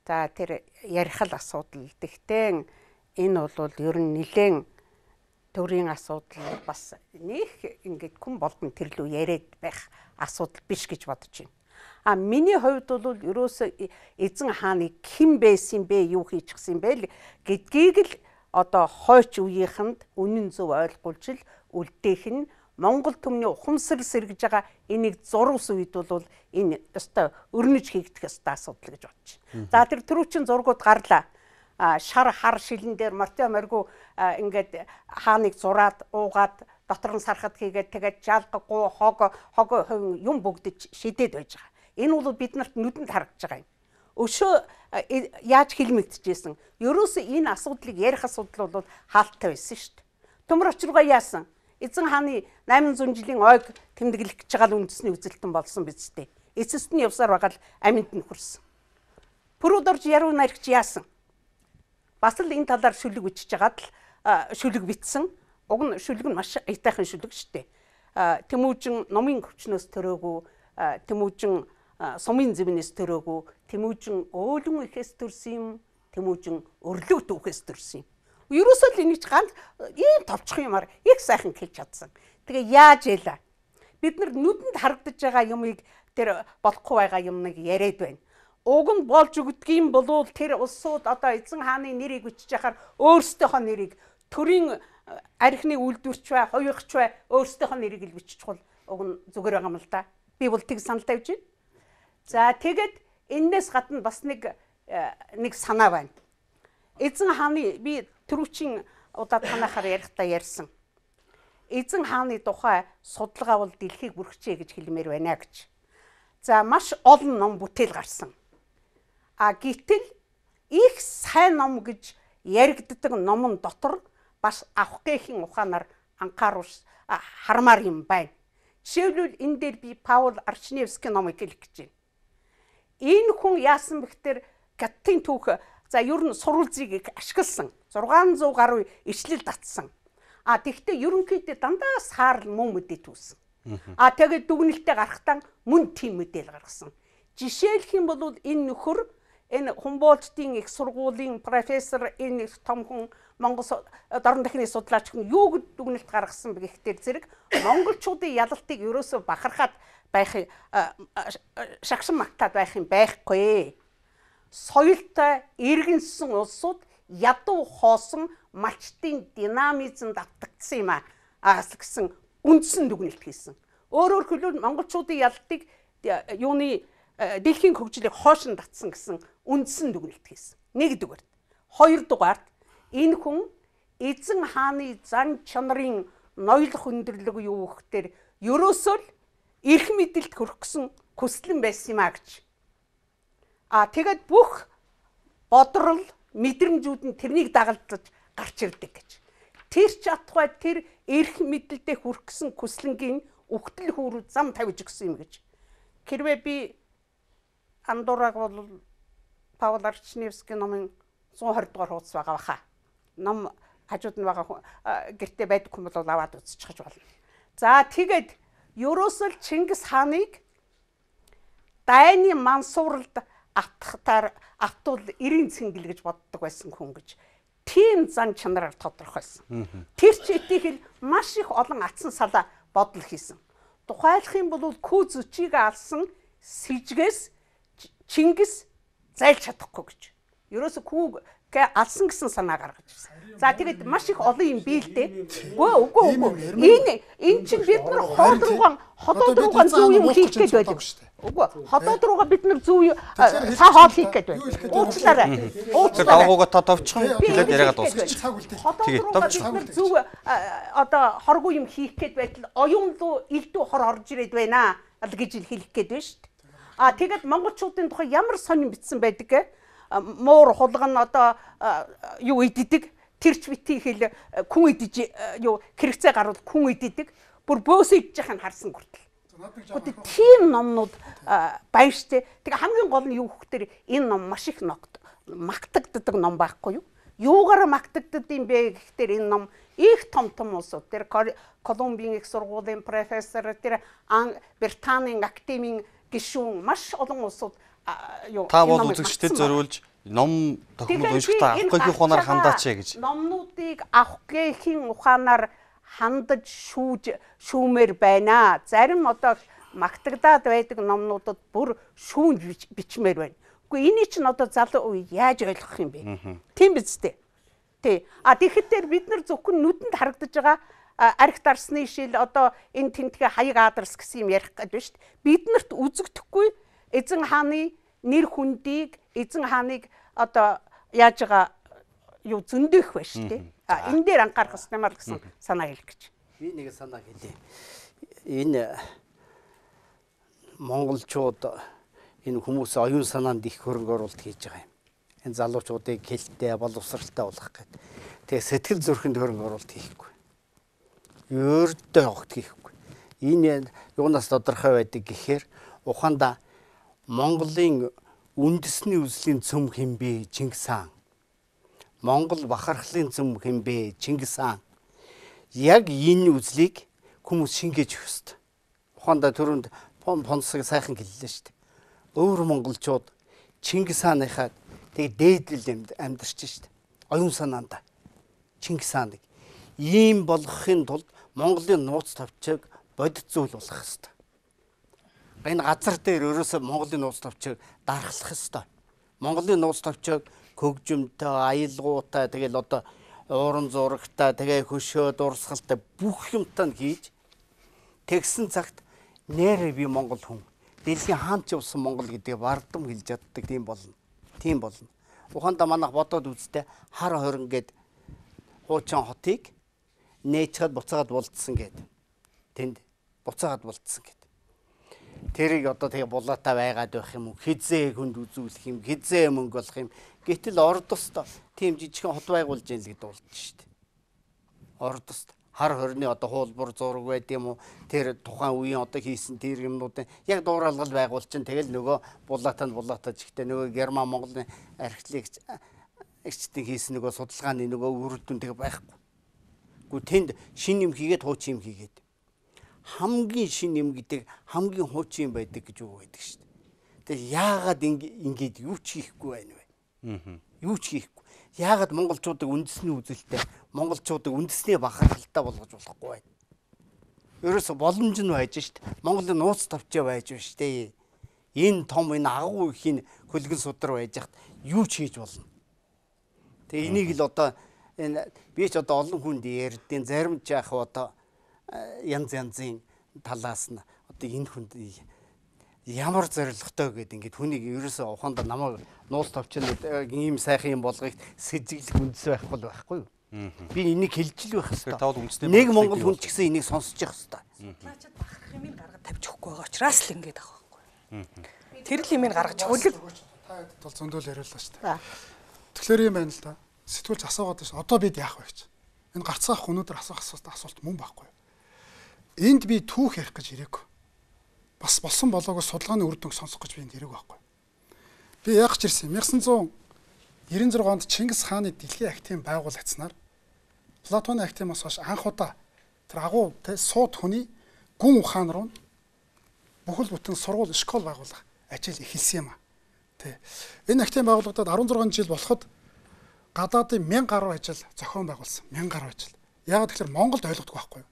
За тэр ярих л асуудал. Тэгтээ энэ бол ер нь нэлээд төрийн асуудал бас нэг ингээд хүн болгон тэр лүү яриад байх асуудал биш гэж бодож байна. А миний хувьд бол ерөөсөө эзэн хааны хэн байсан бэ, юу хийчихсэн бэ гэдгийг л одоо хойч үеийнхэнд үнэн зөв ойлгуулж л үлдээх нь Монгол түмний ухамсарл сэргэж байгаа энийг зурвас үед бол энэ өстой өрнөж хийгдэх өстой асуудал гэж бодож байна. За тэр түрүүчийн зургууд гарлаа. Шар хар шилэн дээр мортой моргу ингээд хааныг зураад уугаад дотор нь сархад хийгээд тэгээд жалгаггүй хог хог юм бүгдэж шидэд байж байгаа. Энэ бол бид нарт нүдэнд харагдаж байгаа юм. Өшөө яаж хэлмэгдэжсэн. Ерөөсөө энэ асуудлыг ярих асуудал бол хаалттай байсан шүү дээ. Төмөр очиргаа яасан? Эзэн хааны найман зуун жилийн ойг тэмдэглэх гэж байгаа үндэсний үзэлтэн болсон биз дээ. Эцэст нь явсаар байгаа л аминд нь хүрсэн. Пүрүүд орж яруу наригч яасан? Бас л энэ талаар шүлэг бичиж байгаад л шүлэг битсэн. Уг нь шүлэг нь маш аятайхан шүлэг шүү дээ. Тэмүүжин номын хүчнөөс төрөөгүй, тэмүүжин сумын зэвнээс төрөөгүй, тэмүүжин өөлөн ихээс төрсөн юм, тэмүүжин өрлөг түүхээс төрсөн юм. Ерөөсөө л энийг ганц ийм товчхон юмар их сайхан хэлж чадсан. Тэгээ яаж яла? Бид нар нүдэнд харагдаж байгаа юмыг тэр болохгүй байгаа юмныг яриад байна. Уг нь болж өгдгийм болвол тэр улсууд одоо эзэн хааны нэрийг бичиж яхаар өөрсдийнхөө нэрийг төрийн архины үйлдвэрч бай, хувийнхч бай өөрсдийнхөө нэрийг л биччихвэл уг нь зүгээр байгаа юм л да. Би бол тэг санал тавьж байна. За тэгээд энээс гадна бас нэг нэг санаа байна. Эзэн хааны би түрүүчийн удаа танахаар ярихдаа ярьсан. Эзэн хааны тухай судалгаа бол дэлхийг бүрхжээ гэж хэлмээр байна гэж. За маш олон ном бүтээл гарсан. А гэтэл их сайн ном гэж яригддаг номон дотор бас авахгүйхийн ухаанаар анхааруус хармаар юм байна. Жишээлбэл энэ дээр би Паул Арчневский номыг хэлэх гэж байна. Энэ хүн яасан бэхтэр Гятын түүх за ер нь сурвалжийг ашигласан. зургаан зуун гаруй ичлэл татсан. А тэгвэл ерөнхийдөө дандаа саарл мөн мэдээ түүсэн. А тэгээд дүгнэлтэд гарахтаа мөн тийм мэдээлэл гаргасан. Жишээлх юм бол энэ нөхөр энэ Хумбольдтын их сургуулийн профессор энэ том хүн Монгол дорн дахны судлаач хүн юу гэж дүгнэлт гаргасан бэ гэхтэр зэрэг монголчуудын ялалтыг ерөөсөө бахархаад байх шагшин магтаад байх юм байхгүй. Соёлтой иргэнсэн улсууд ядуу хоосон малчтын динамизмд автагдсан юм аа гэсэн үндсэн дүгнэлт хийсэн. Өөрөөр хэлбэл монголчуудын ялалтыг юуны дэлхийн хөгжлийг хоошин татсан гэсэн үндсэн дүгнэлт хийсэн. Нэгдүгээр. Хоёрдугаар энэ хүн эзэн хааны зан чанарын ноёлох өндөрлөг юу гэхээр ерөөсөө л эрх мэдэлд хүрэх гэсэн хүслэн байсан юм а гэж. А тэгээд бүх бодрол мэдрэмжүүд нь тэрнийг дагалдаж гарч ирдэг гэж. Тэр ч атгай тэр эрх мэдэлдээ хүрэх гэсэн хүслэнгийн өгтөл хүүрүү зам тавьж өгсөн юм гэж. Хэрвээ би Андураг бол Паул Арчневский номын one twenty дугаар хуудас байгаа баха. Ном хажууд нь байгаа гэртээ байдаг хүн бол аваад үзчихэж болно. За тэгээд ерөөсөл Чингис хааныг дайны мансууралд атхтаар автуул эрийн цэнгэл гэж боддог байсан хүн гэж тийм зан чанараар тодорхойлсон. Тэр ч итгэл маш их олон атсан салаа бодол хийсэн. Тухайлах юм бол Күү зөчийг алсан сэжгээс Чингис зайлж чадахгүй гэж. Ерөөсө Күүгээ алсан гэсэн санаа гаргаж ирсэн. За тэгээд маш их олон юм биэлдэ. Үгүй үгүй үгүй. Энэ энэ чинь бид нар хоол руугаа ходоод руугаа зүү юм хийх гээд байдаг. Үгүй ходоод руугаа бид нар зүү цаа хоол хийх гээд байна. Уучлаарай. Уучлаарай. Давгууга тодовчхон хэлээд яриагаа дуусгачих. Ходоод руугаа бид нар зүү одоо хоргүй юм хийх гээд байтал оюун руу элдв хор орж ирээд байна гэж хэлэх гээд байна шүү дээ. А тэгээд монголчуудын тухай ямар сонин битсэн байдаг гэ? Муур хулган одоо юу иддэг, тэрч бити хэл күн идэж юу хэрэгцээ гарвал күн иддэг. Бүр бөөс идэж яхад харсан хүртэл. Гэхдээ тийм номнууд байна штэ. Тэгээ хамгийн гол нь юу гэхээр энэ ном маш их магтагддаг ном байхгүй юу? Юугаар магтагддаг юм бэ гэхээр энэ ном их том том улсууд тэр Колумбийн их сургуулийн профессор тэр Британийн академийн гишүүн маш олон улсууд юу та бол үзэгчдэд зориулж ном тохиомжтой уншихтаа авахгүй ухаанаар хандаач гэж. Номнуудыг авахгүйхийн ухаанаар хандаж шүүж шүүмээр байна. Зарим одоо магтагдаад байдаг номнуудад бүр шүүн бичмээр байна. Үгүй энийг чинь одоо залуу үе яаж ойлгох юм бэ? Тийм биз дээ. Тий. А тэгэхдээ бид нар зөвхөн нүдэнд харагдаж байгаа арх дарсны шил одоо энэ тентгээ хаяг аадарс гэсэн юм ярих гэдэг шүү дээ. Биднэрт үзэгдэхгүй эзэн хааны нэр хүндийг эзэн хааныг одоо яаж байгаа юу зөндөх байна шүү дээ. А энэ дээр анхаарах хэрэгтэй маа гэсэн санаа хэлэх гэж. Би нэг санаа хэлье. Энэ монголчууд энэ хүмүүс оюун санаанд их хөрөнгө оруулалт хийж байгаа юм. Энэ залуучуудыг хэлтэй боловсралтай болгох гэдэг. Тэгээ сэтгэл зүрхэнд хөрөнгө оруулалт хийхгүй. Өөртөө огт хийхгүй. Энэ юунаас тодорхой байдаг гэхээр ухаандаа Монголын үндэсний үзлийн цөм хэмбэ Чингис хаан. Монгол бахархлын цөм хэмбэ Чингис хаан. Яг энэ үзлийг хүмүүс шингээж өгөх ёстой. Ухаандаа түрүүнд Понсыг сайхан хэллээ шүү дээ. Өөр монголчууд Чингис хааныхаа тэг дээдэл амьдарч шүү дээ. Оюун санаанда Чингис хааныг ийм болгохын тулд Монголын нууц тавчийг бодит зүйл болох ёстой. Энэ газар дээр ерөөсөө Монголын нууц тавчийг дарахлах ёстой. Монголын нууц тавчийг хөгжимтэй, аялгаутай, тэгэл одоо ууран зурагтай, тэгээ хөшөө дурсгалтай бүх юмтай нь хийж тэгсэн цагт нэрээ би Монгол хүн. Дэлхийн хаанч явсан Монгол гэдгийг бардам хэлж чаддаг тийм болно. Тийм болно. Ухаандаа манайх бодоод үзтээ хар хорин гээд хуучин хотыг нээчгээд буцаагаад булдсан гэд. Тэнд буцаагаад булдсан гэд. Тэрийг одоо тэгээ булаатай байгаад байх юм уу? Хизээ хүнд үзүүлэх юм, хизээ мөнгө болох юм. Гэтэл ордост тийм жижигхэн хот байгуулж ял гэдэг болж штт. Ордост хар хорны одоо хуулбар зураг байд юм уу? Тэр тухайн үеийн одоо хийсэн тэр юмнуудын яг дууралгал байгуул чинь тэгэл нөгөө булаатанд булаатаж ихтэй нөгөө Герман Монголын архитект агчдын хийсэн нөгөө судалгааны нөгөө үр дүн тэг байхгүй. Гэхдээ тэнд шин юм хийгээд хуучин юм хийгээд хамгийн шин юм гэдэг хамгийн хуучин юм байдаг гэж үг байдаг шүү дээ. Тэгээ яагаад ингэж юу ч хийхгүй байна вэ? Аа. Юу ч хийхгүй. Яагаад монголчуудыг үндэсний үзэлтэй монголчуудыг үндэсний бахархалтай болгож болохгүй байна? Ерөөсө боломж нь байж шít. Монголын нууц тавчаа байж байна штэ. Энэ том энэ агуу ихийн хөлгөн судар байж хат юу ч хийж болно. Тэгээ энийг л одоо энэ би ч одоо олон хүнд ярьдیں۔ Зарим ч яах одоо янз янзын талаас нь одоо энэ хүнд ямар зоригтой гэдэг ингээд хүнийг ерөөсөө ухаандаа намайг нууц тавчаад ийм сайхан юм болгохыг сэжиглэх үндэс байхгүй л байхгүй юу? Би энийг хэлж л байх хэрэгтэй. Нэг монгол хүн ч гэсэн энийг сонсож явах хэрэгтэй. Наачад бахарх юмыг гаргаж тавьж өгөхгүй байгаа учраас л ингэж байгаа байхгүй. Тэр л юмыг гаргаж хөлөг та бол зөндөл яриуллаа шүү дээ. Тэгэхээр юм байна л да. Сэтгүүлч асуугаад байна. Одоо бид яах вэ гэж. Энэ гарцгаах өнөөдөр асуух асуулт мөн байхгүй. Энд би түүх ярих гэж ирээгүй. Бас болсон болоогоо судалгааны үр дүнг сонсох гэж би энд ирээгүй байхгүй. Би яах гэж ирсэн юм. найман девяносто шесть онд Чингис хааны дэлхийн актын байгуулагчнаар Платоны актимаас хойш анх удаа тэр агуу сууд хүний гүн ухаан руу бүхэл бүтэн сургууль школ байгуулах ажил эхэлсэн юм а. Тэ. Энэ актын байгуулагдаад арван зургаан жил болоход гадаадын мянга гаруй ажил зохион байгуулсан. мянга гаруй ажил. Яагаад тэгэхээр Монголд ойлгодог байхгүй юу?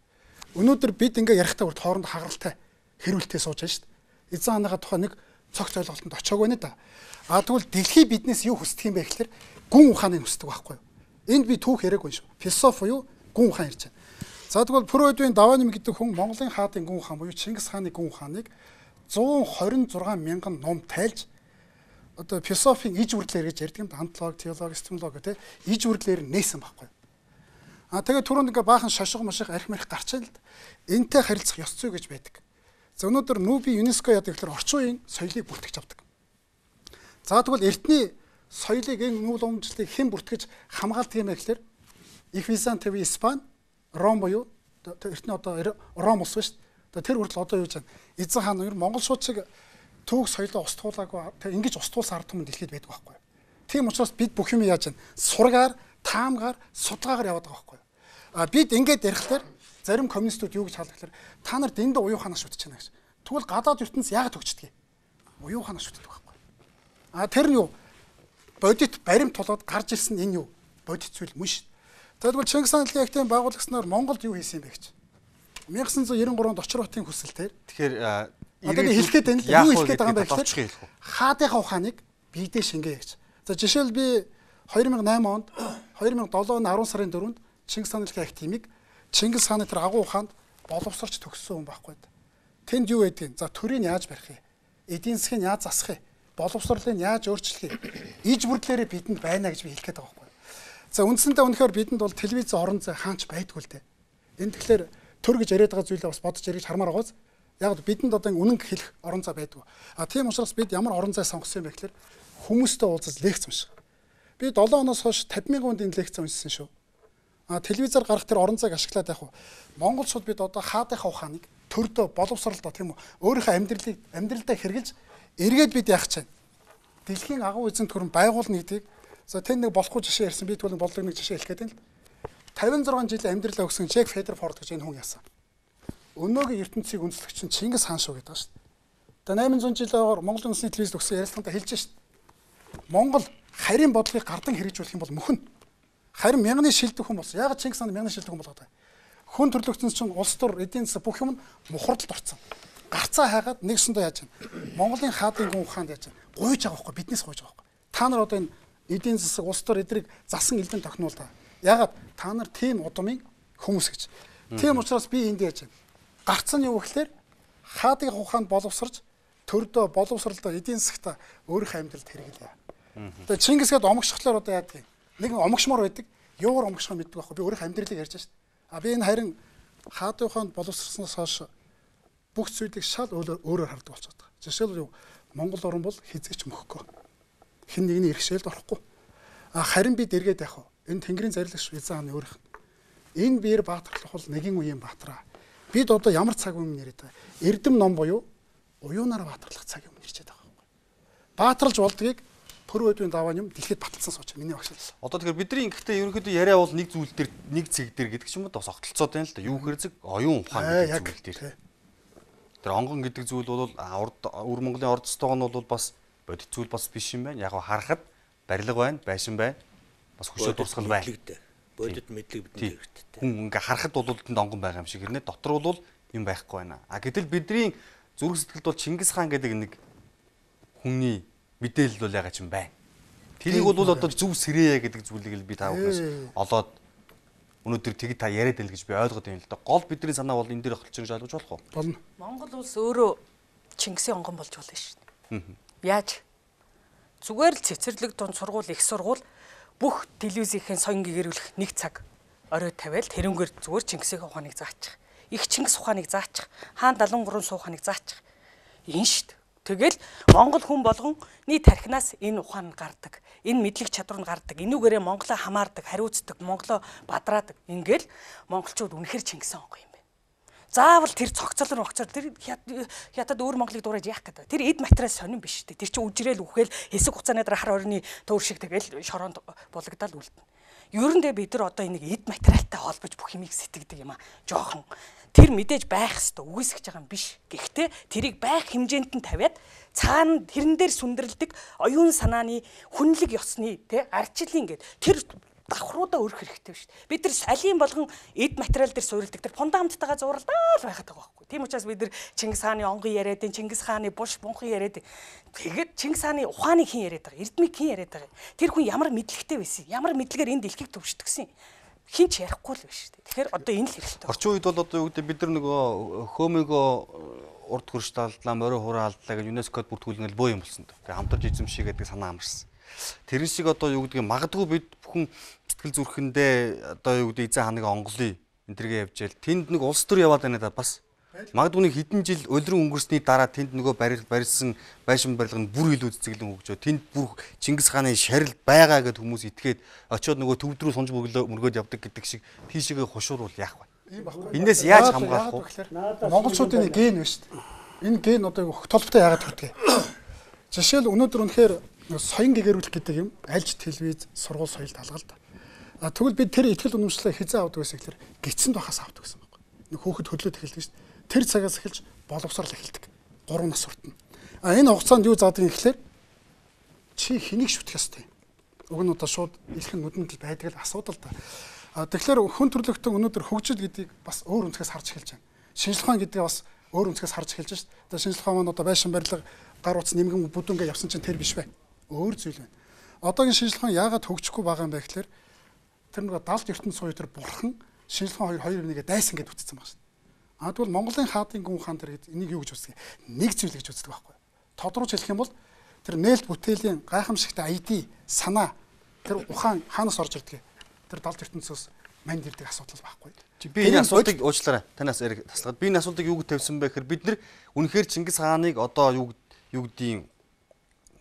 Өнөөдөр бид ингээ ярихтаа үрд хооронд хагаралтай хэрүүлтээ сууж байна шүү дээ. Эзэн хааныхаа тухай нэг цогц ойлголтод очиог байна да. А тэгвэл дэлхий биднээс юу хүсдэг юм бэ гэхээр гүн ухааныг хүсдэг байхгүй юу? Энд би түүх яриаггүй шүү. Философи юу? Гүн ухаан ярьж байна. За тэгвэл Фройдын Даваним гэдэг хүн Монголын хаадын гүн ухаан буюу Чингис хааны гүн ухааныг зуун хорин зургаан мянган ном тайлж одоо философийн иж үрдлэр гэж ярьдаг юм да. Антологи, теологи, эстимологи те иж үрдлэр нээсэн байхгүй. А тэгээд түрүүнд ингээ баахан шошго мошиг арх марх гарч ийн л да. Энтэй харилцах ёс зүй гэж байдаг. За өнөөдөр Нүби ЮНЕСКО яадаг гэхээр орчин үеийн соёлыг бүртгэж авдаг. За тэгвэл эртний соёлыг энэ нүүл уламжлалыг хэн бүртгэж хамгаалдаг юм бэ гэхээр Их Визант вэ Испани, Ром буюу эртний одоо Ром улс биш. Тэр хүртэл одоо юу гэж байна? Эзэн хаан ер Монгол шууд шиг түүх соёлоо устгуулаагүй тэг ингэж устгуулсан ард түмэн дэлхийд байдаг байхгүй. Тийм учраас бид бүх юм яаж вэ? Сургаар, таамгаар, судгаагаар яваад байгаа байхгүй. А бид ингэж ярихлаар зарим коммунистууд юу гэж хаалт гэхээр та нар дэндээ уюуханаа шүтэж байна гэж. Тэгвэл гадаад ертөнц яагаад төгчдөг? Уюуханаа шүтдэг байхгүй. А тэр нь юу? Бодит баримт толгойд гарч ирсэн энэ юу? Бодит зүйл мөн шүү. Тэгвэл Чингис хааны дэлхийн актын байгуулагчнаар Монголд юу хийсэн юм бэ гэж. найман девяносто три онд Очир хотын хүсэлтээр тэгэхээр одоо хэлэхэд байна л юу хэлэхэд байгаа юм бэ гэхээр хаадынхаа ухааныг биедээ шингээе гэж. За жишээл би two thousand eight онд two thousand seven оны ten сарын дөрөвд Чингис хааны дэлхийн акт хэмиг Чингис хааны тэр агуу ухаанд боловсрч төгссөн хүн байхгүй. Тэнд юу байдгийг за төрийг яаж барих вэ? Эдийн засгийг яаж засах вэ? Боловсролыг яаж өөрчлөх вэ? Иж бүрдлээрээ бидэнд байна гэж би хэлэх гээд байгаа байхгүй. За үндсэндээ үнэхээр бидэнд бол телевиз орон зай хаанч байдгүй л дээ. Энэ тэгэхээр төр гэж яриад байгаа зүйлээ бас бодож ярих хармаар байгааз яг бидэнд одоо үнэн хэлэх орон зай байдгүй. А тийм учраас бид ямар орон зай сонгосон юм бэ гэхээр хүмүүстэй уулзаж лекц унших. Би seven оноос хойш fifty мянган хүнд энэ лекц уншсан шүү. А телевизээр гарах тэр орон зайг ашиглаад яг уу монголчууд бид одоо хаадынхаа ухааныг төрдөө боловсролдоо тийм үү өөрийнхөө амьдралыг амьдралдаа хэрэгжилж эргээд бид яах чинь дэлхийн агуу эзэн төрөн байгуулна гэдгийг за тэн нэг болохгүй жишээ ярьсан би тэгвэл бодлого нэг жишээ хэлэх гээд байна л fifty-six жилийн амьдралаа өгсөн Джек Федерфорд гэж энэ хүн яасан. Өнөөгийн ертөнцийг үндэслэгч нь Чингис хаан шүү гэдэг шүү дээ. Одоо eight hundred жилээр Монголын үндэсний телевизд өгсөн ярилцлаганд хэлж шүү дээ. Монгол харийн бодлогыг гардан хэрэгжүүлэх юм бол мөхөн. Харин мянганы шилдэг хүн болсон. Яагаад Чингис хаан мянганы шилдэг хүн болгоод байгаа? Хүн төрлөختсөн чинь улс төр эдийн засаг бүх юм мухардалд орцсон. Гарцаа хайгаад нэгсэндээ яаж байна? Монголын хаадын гүн ухаанд яаж байна? Гуйж байгаа байхгүй биднээс гуйж байгаа байхгүй. Та нар одоо энэ эдийн засаг улс төр эдрийг засан элдэн тохинуул та. Яагаад та нар тийм удамын хүмүүс гэж. Тийм учраас би энд яаж байна? Гарц нь юу гэхээр хаадын ухаанд боловсрж төрдөө боловсролдоо эдийн засагта өөрийнхөө амьдралд хэрэглэе. Тэгээ Чингис гээд омгшглоор одоо яадаг юм? Нэг омгшмор байдаг. Юугаар омгшхоо мэддэг байхгүй. Би өөрийнхөө амьдралыг ярьж байна шүү дээ. А би энэ харин хаадын ухаанд боловсрсноос хойш бүх зүйлийг шал өөрөөр хардаг болчиход байгаа. Жишээл юу Монгол орн бол хизээч мөхгүй. Хэн нэгний иргэшээлд орохгүй. А харин бид эргээд яах вэ? Энэ Тэнгэрийн зарлагч эзэн хааны өөрийнх. Энэ биер баатарлах бол нэгэн үеийн баатраа. Бид одоо ямар цаг үе нэрэд байгаа? Эрдэм ном буюу уюунаар баатарлах цаг юм нэрчээд байгаа байхгүй. Баатарлж болдгийг төрөө өдвийн даваа юм дэлхийд баталсан сууч миний багш. Одоо тэгэхээр бидний ингэхдээ ерөнхийдөө яриа бол нэг зүйл дээр нэг цэг дээр гэдэг ч юм уу бас огтлцоод байна л да. Юу хэрэг оюун ухаан гэдэг зүйл дээр. Тэр онгон гэдэг зүйл бол урд өвөр Монголын орд стогоо нь бол бас бодит зүйл бас биш юм байна. Яг харахад барилга байна, байшин байна. Бас хөшөө дурсгал байна. Бодит мэдлэг бидний хэрэгтэй. Хүн ингээ харахад бол тэнд онгон байгаа юм шиг хэрнээ дотор бол юм байхгүй байна. А гэтэл бидний зүрх сэтгэлд бол Чингис хаан гэдэг нэг хүний мэдээлэл бол ягаад ч юм байна. Тэрийг бол одоо зөв сэрээ гэдэг зүйлийг л би та бүхнээс олоод өнөөдөр тэг та яриад байл гэж би ойлгоод байна л да. Гол бидний санаа бол энэ дээр холцсон гэж ойлгож болох уу? Болно. Монгол улс өөрөө Чингисийн онгон болж болно шүү дээ. Яаж? Зүгээр л цэцэрлэг дунд сургууль, их сургууль бүх телевизийн соён гэгэрүүлэх нэг цаг орой тавиал тэрнгээр зүгээр Чингисийн ухааныг заачих. Их Чингис ухааныг заачих. Хаан далан гурван сууханыг заачих. Энэ шүү дээ. Тэгэл Монгол хүн болгон нийт тархинаас энэ ухаан гардаг. Энэ мэдлэг чадвар нь гардаг. Энүүгээрээ Монголоо хамаардаг, хариуцдаг, Монголоо бадраадаг. Ингээл монголчууд үнэхэр Чингисийн онгон юм байна. Заавал тэр цогцол рогцор тэр хятад өөр Монголыг дуурайж яах гэдэг. Тэр эд материал сонирн биш үү? Тэр чинь үжрээл үхэл хэсэг хугацааны дараа хар орны төвөр шиг тэгэл шороонд булагдал үлдэнэ. Ерөндөө бид нар одоо энийг эд материалтай холбож бүх юмыг сэтгэдэг юм а. Жохон тэр мэдээж байх хэвээр үгүйсгэж байгаа юм биш. Гэхдээ тэрийг байх хэмжээнд нь тавиад цаана тэрэн дээр сүндэрлдэг оюун санааны хүнлэг ёсны тий арчлын гээд тэр давхруудаа өрөх хэрэгтэй биш. Бид нар салийн болгон эд материал дээр суурилдаг тэр фундаменттайгаа зууралдаа л байхад байгаа байхгүй. Тийм учраас бид нар Чингис хааны онгон яриад, Чингис хааны буш бунхан яриад. Тэгээд Чингис хааны ухааныг хэн яриад байгаа, эрдмийг хэн яриад байгаа. Тэр хүн ямар мэдлэгтэй байсан, ямар мэдлэгээр энэ дэлхийг төвшдөгсөн. Хин ч ярихгүй л биш үү. Тэгэхээр одоо энэ л хэрэгтэй. Орчин үед бол одоо юу гэдэг бид нар нөгөө хөөмөгөө урд хөрш талдлаа, морин хураа алдлаа гэж ЮНЕСКОд бүртгүүлнэл бөө юм болсон. Тэгээ хамтарч эзэмшээ гэдэг санаа амарсан. Тэрэн шиг одоо юу гэдэг магадгүй бид бүхэн сэтгэл зүрхэндээ одоо юу гэдэг эзэн хааны онголын энэ төргээ явж ял тэнд нэг улс төр яваад байна да бас. Магадгүй нэг хэдэн жил улиран өнгөрсний дараа тэнд нөгөө барил барилсан байшин барилга нь бүр илүү цэцэглэн хөгжөө. Тэнд бүр Чингис хааны шарил байгаа гэд хүмүүс итгээд очиод нөгөө төвд рүү сунж мөргөөд явдаг гэдэг шиг тийшээгээ хушуур бол яах вэ? Энээс яаж хамгаалах вэ? Монголчуудын ген байна шүү дээ. Энэ ген одоо толботой яагаад төрдөг? Жишээл өнөөдөр үнэхээр соён гэгэрүүлэх гэдэг юм альж телевиз сургууль соёлд алгалдаг. А тэгвэл бид тэр ихтгэл үнэмшлээ хизээ авдаг гэсэн ихлээр гисэнд бахаас авдаг гэсэн байхгүй. Нэг хөөхд хөдлөөд эхэлдэг шүү дээ. Тэр цагаас эхэлж боловсрал эхэлдэг. гурван нас хүртэн. А энэ хугацаанд юу заадаг юм гэхлээр чи хэнийг шүтэх ёстой. Уг нь одоо шууд илхэн нүдэнд л байдаг л асуудал та. А тэгэхээр хүн төрлөختөн өнөөдөр хөгжил гэдгийг бас өөр өнцгөөс харж эхэлж байна. Шинжлэх ухаан гэдгийг бас өөр өнцгөөс харж эхэлж байна. Одоо шинжлэх ухаан маань одоо байшин барилга, гар утас нэмгэн бүдүүнгээ явсан чинь тэр биш бай. Өөр зүйл байна. Одоогийн шинжлэх ухаан яагаад хөгжихгүй байгаа юм бэ гэхлээр тэр нэг далд ертөнц сууя тэр бурхан шинжлэх ухаан хоёр нэгэ дайсан гэдээ үтцсэн байна шүү. А тэгвэл Монголын хаадын гүн хаан тэр энийг юу гэж үздэг? Нэг зүйл гэж үздэг байхгүй. Тодруулж хэлэх юм бол тэр нээлт бүтээлийн гайхамшигтай ай ди санаа тэр ухаан хаанаас орж ирдэг? Тэр далд ертөнцөөс манд ирдэг асуудал байхгүй. Би энэ асуултыг уучлаарай. Танаас яриг таслаад би энэ асуултыг юу гэж тавьсан бэ гэхээр бид нар үнэхээр Чингис хааныг одоо юу юу гэдгийг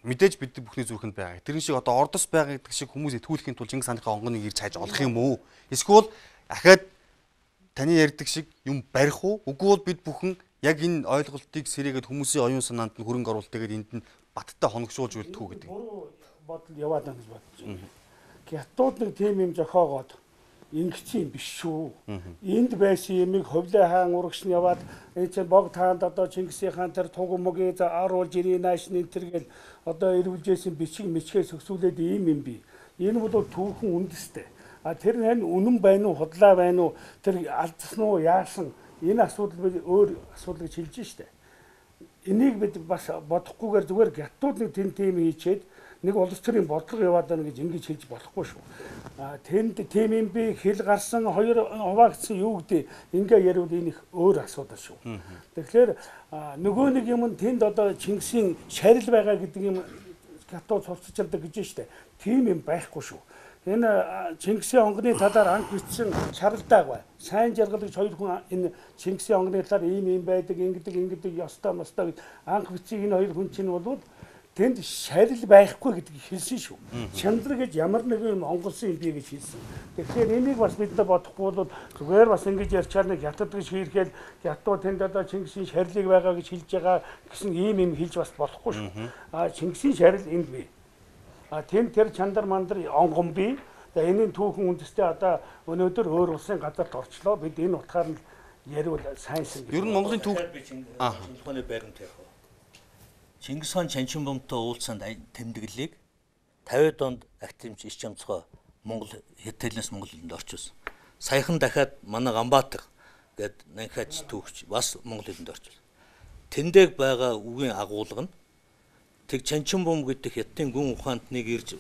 мэдээж бид бүхний зүрхэнд байгаа. Тэрэн шиг одоо ордос байгаа гэдэг шиг хүмүүс итгүүлэхийн тулд Чингис хааныхаа онгоныг ирж хайж олох юм уу? Эсвэл ахаад таны ярьдаг шиг юм барих уу? Үгүй бол бид бүхэн яг энэ ойлголтыг сэрээгээд хүмүүсийн оюун санаанд нь хөрөнгө оруулалт тэгээд энд нь баттай хоногшуулж үлдэх үү гэдэг. Бодол яваад байгаа гэж бодож байна. Хятад нэг тийм юм зохиогоод ингэсэн юм биш шүү. Энд байсан юмыг Ховлын хаан урагш нь яваад энэ чинь бог таанд одоо Чингисийн хаан тэр туг мөгийг аруулж ирээ нааш энэ тэргээл одоо ирүүлжсэн бичиг мичгээ сөксүүлээд ийм юм би. Энэ бол түүхэн үндэстэй. А тэр нь үнэн байна уу, худлаа байна уу, тэр алдсан уу, яасан энэ асуудал бид өөр асуудал гэж хэлж штэ. Энийг бид бас бодохгүйгээр зүгээр гятууд нэг тэн тийм хийчээд нэг улс төрийн бодлого яваад байна гэж ингэж хэлж болохгүй шүү. А тэнд тийм юм би хэл гарсан хоёр хуваагдсан юу гэдэг ингээ ярил энэ их өөр асуудал шүү. Тэгэхээр нөгөө нэг юм тэнд одоо Чингисийн шарил байгаа гэдэг юм гятууд цуцчилдаг гэж штэ. Тийм юм байхгүй шүү. Энэ Чингисийн онгоны талаар анх бичсэн шаралдааг бай. Сайн жаргал гэж хоёр хүн энэ Чингисийн онгоны талаар ийм юм байдаг, ингэдэг, ингэдэг, ёстой, мостой гэж анх бичсэн энэ хоёр хүн чинь бол тэнд шарил байхгүй гэдгийг хэлсэн шүү. Чандар гэж ямар нэгэн онгосон юм би гэж хэлсэн. Тэгэхээр энийг бас бид нар бодохгүй бол зүгээр бас ингэж ярьчаар нэг хятад гэж хийргээл хятад тэнд одоо Чингисийн шарилыг байгаа гэж хэлж байгаа гэсэн ийм юм хэлж бас болохгүй шүү. А Чингисийн шарил энд бий. А тэн тэр чандар мандар онгон бий. За энэний түүхэн үндэстэй одоо өнөөдөр өөр улсын газарт орчлоо. Бид энэ утгаар нь яриул сайнсан гэж. Ер нь Монголын түүх Чингисхааны байранд яг. Чингис хаан Чанчинбомтой уулзсанд тэмдэглэлийг тавиад онд активч иш чамцгой Монгол Хятаднаас Монгол хэлэнд орчуулсан. Саяхан дахиад манай Ганбаатар гээд Нанхач түүхч бас Монгол хэлэнд орчуулсан. Тэндээ байгаа үгийн агуулга нь тэг Чанчинбом гэдэг Хятадын гүн ухаанд нэг ирж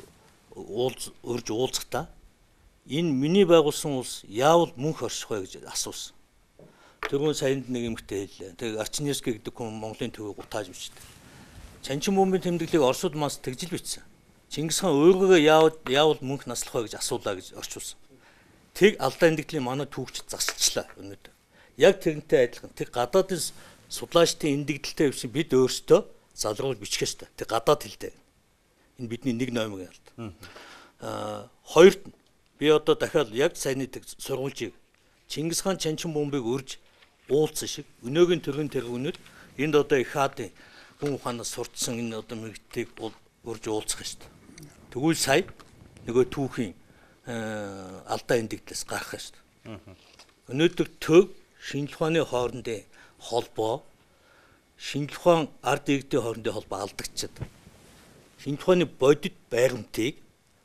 уулз өрж уулзахдаа энэ миний байгуулсан улс яавал мөнх орших вэ гэж асуусан. Тэрүүн саянд нэг эмэгтэй хэллээ. Тэг Арчиньевский гэдэг хүн Монголын төвийг гутааж бичдэг. Чанчинбомын тэмдэглэлийг Оросууд мас тэгжил бичсэн. Чингис хаан өөргөө яавал яавал мөнх наслах вэ гэж асуулаа гэж орчуулсан. Тэг алдаа эндэгдлийн манай түүхч засалчлаа өнөөдөр. Яг тэгнтэй адилхан тэг гадаадын судлаачдын эндэгдэлтэй биш бид өөрсдөө залруулж бичих ёстой. Тэг гадаад хэлтэй. Энэ бидний нэг номыг алд. Аа хоёрт нь би одоо дахиад яг саяны сургуульчийг Чингис хаан Чанчинбомбыг өрж уулзсан шиг өнөөгийн төргийн тэргүүнүүд энд одоо их хаадын хүн ухаанаас сурцсан энэ одоо мэрэгтийг өрж уулзах ёстой. Тэгвэл сая нөгөө түүхийн алдаа эндэгдлээс гарах ёстой. Өнөөдөр төв шинжлэх ухааны хоорондын холбоо шинжлэх ухаан ард иргэдийн хоорондын холбоо алдагдчихад. Шинжлэх ухааны бодит байгамтыг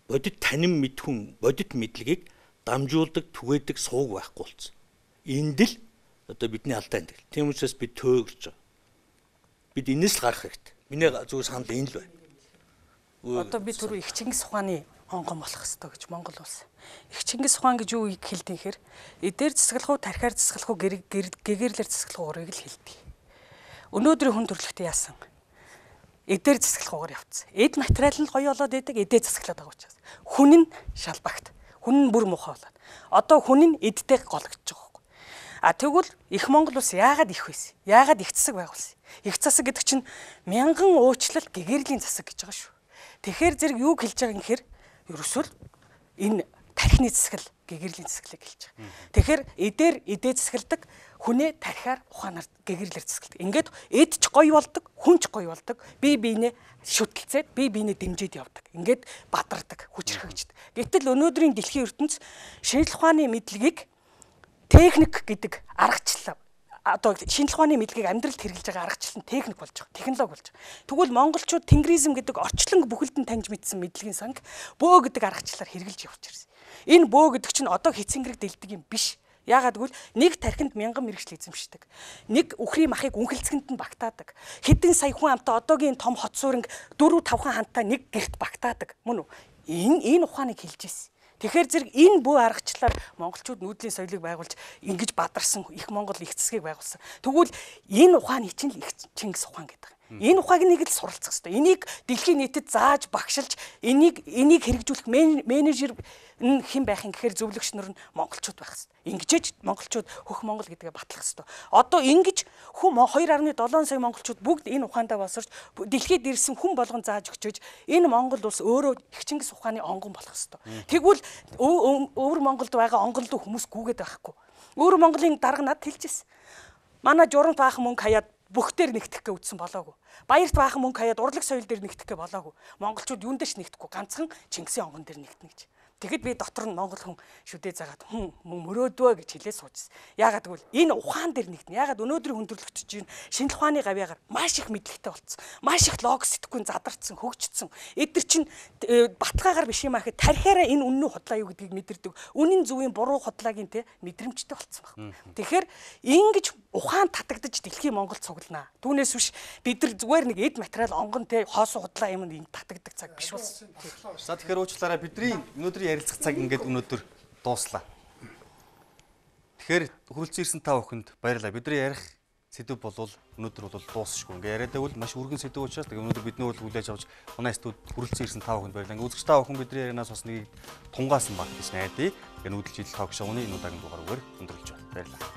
бодит танин мэдхүн бодит мэдлэгийг дамжуулдаг түгээдэг сууг байхгүй болсон. Энд л одоо бидний алдаа эндэл. Тийм учраас бид төөгөрч байгаа. Бид энэс л гарах хэрэгтэй. Миний зүгээр санал энэ л байна. Одоо би түрүү их Чингис ухааны онгон болох ёстой гэж Монгол улс. Их Чингис ухаан гэж юу хэлдэг хэр эдээр засаглах уу, тархиар засаглах уу, гэгэрлэр засаглах уурыг л хэлдэг. Өнөөдрийн хүн төрөлхтөө яасан? Эдээр засаглах уугаар явцсан. Эд материал нь гоё болоод идэг, эдээ засаглаад байгаа учраас. Хүн нь шалбагт. Хүн нь бүр муухай болоод. Одоо хүн нь эдтэй гологдож байгаа байхгүй. А тэгвэл их Монгол улс яагаад их байсан? Яагаад их засаг байгуулсан? Их засаг гэдэг чинь мянган уучлал гэгэрлийн засаг гэж байгаа шүү. Тэгэхээр зэрэг юуг хэлж байгаа юм гэхээр ерөөсөө энэ тархины засаглал гэгэрлийн засаглалыг хэлж байгаа. Тэгэхээр эдээр эдээ засагладаг, хүнээ тархиар ухаанаар гэгэрлэр засагладаг. Ингээд эд ч гоё болдог, хүн ч гоё болдог. Би биенээ шүтэлцээд, би биенээ дэмжиж явдаг. Ингээд бадардаг, хүчрхэгждэг. Гэтэл өнөөдрийн дэлхийн ертөнц шинжлэх ухааны мэдлэгийг техник гэдэг аргачлал одоо шинжлэх ухааны мэдлэгийг амьдралд хэрэгжилж байгаа аргачлал нь техник болж байгаа, технологи болж байгаа. Тэгвэл монголчууд тенгризм гэдэг орчлон бүхэлд нь таньж мэдсэн мэдлэгийн санг бөө гэдэг аргачлалаар хэрэгжилж явж ирсэн. Энэ бөө гэдэг чинь одоо хэцэнгэрэг дэлдэг юм биш. Яагаад гэвэл нэг тархинд мянган мэрэгжил эзэмшдэг. Нэг үхрийн махыг үнхэлцгэнд нь багтаадаг. Хэдэн сая хүн амтаа одоогийн том хот сууринг дөрөв тавхан хантаа нэг гэрт багтаадаг. Мөн үү? Энэ энэ ухааныг хэлж ирсэн. Тэгэхээр зэрэг энэ бүх аргачлалаар монголчууд нүүдлийн соёлыг байгуулж ингэж бадарсан их Монгол их засгийг байгуулсан. Тэгвэл энэ ухааны чинь л их Чингис ухаан гэдэг. Энэ ухааг нэг л суралцах хэрэгтэй. Энийг дэлхийн нийтэд зааж багшилж энийг энийг хэрэгжүүлэх менежер нь хэн байх юм гэхээр зөвлөгч нар нь монголчууд байх хэрэгтэй. Ингэжээч монголчууд хөх Монгол гэдгээ батлах хэрэгтэй. Одоо ингэж хүм хоёр гаруй долоон сая монголчууд бүгд энэ ухаандаа босорч дэлхийд ирсэн хүн болгон зааж өгчөөж энэ Монгол улс өөрөө их Чингис ухааны онгон болох хэрэгтэй. Тэгвэл өвөр Монголд байгаа онгон руу хүмүүс гүгээд байхгүй. Өвөр Монголын дарга над хэлжсэн. Манай журамт баахан мөнгө хаяад бүхтээр нэгтгэх гэ үтсэн болоогүй. Баярт баахан мөнгө хаяад урлаг соёл дээр нэгтгэх гэ болоогүй. Монголчууд юунд дэш нэгтгэхгүй ганцхан Чингисийн онгон дээр нэгтнэ гэж. Тэгэхэд би дотор нь монгол хүн шүдээ загаад хүн мөрөөдөө гэж хэлээ суужсэн. Яагаад гэвэл энэ ухаан дээр нэгтнэ. Яагаад өнөөдрийн хүндрэлтч чинь шинжлэх ухааны гавьяагаар маш их мэдлэгтэй болцсон. Маш их логик сэтгүүн задарсан, хөгжсөн. Эдгэр чинь батгаагаар биш юм ахэд тархиараа энэ үнэн худлаа юу гэдгийг мэдэрдэг. Үнэн зөвийн буруу худлаагийн те мэдрэмжтэй болцсон баг. Тэгэхээр ингэж ухаан татагдаж дэлхийн Монголд цуглана. Түүнээс биш бид нар зүгээр нэг эд материал онгон те хоосоо худлаа юм энэ татагддаг цаг биш болсон. За тэгэхээр уучлаарай бидний өнөөдрийн ярилцах цаг ингээд өнөөдөр дууслаа. Тэгэхээр хүрэлцэн ирсэн та бүхэнд баярлалаа. Бидний ярих сэдв болвол өнөөдөр бол дуусахгүй. Ингээ яриад байвал маш өргөн сэдв учраас тэгээ өнөөдөр бидний бол хүлээж авч манай студ хүрэлцэн ирсэн та бүхэнд баярлалаа. Ингээ үзэгч та бүхэн бидний ярианаас бас нэг тунгаасан баг гэж найдаа. Тэгээ нүүдэлж идэл ток шоуны энэ удаагийн дугаараар өндөрлөж байна. Баярлалаа.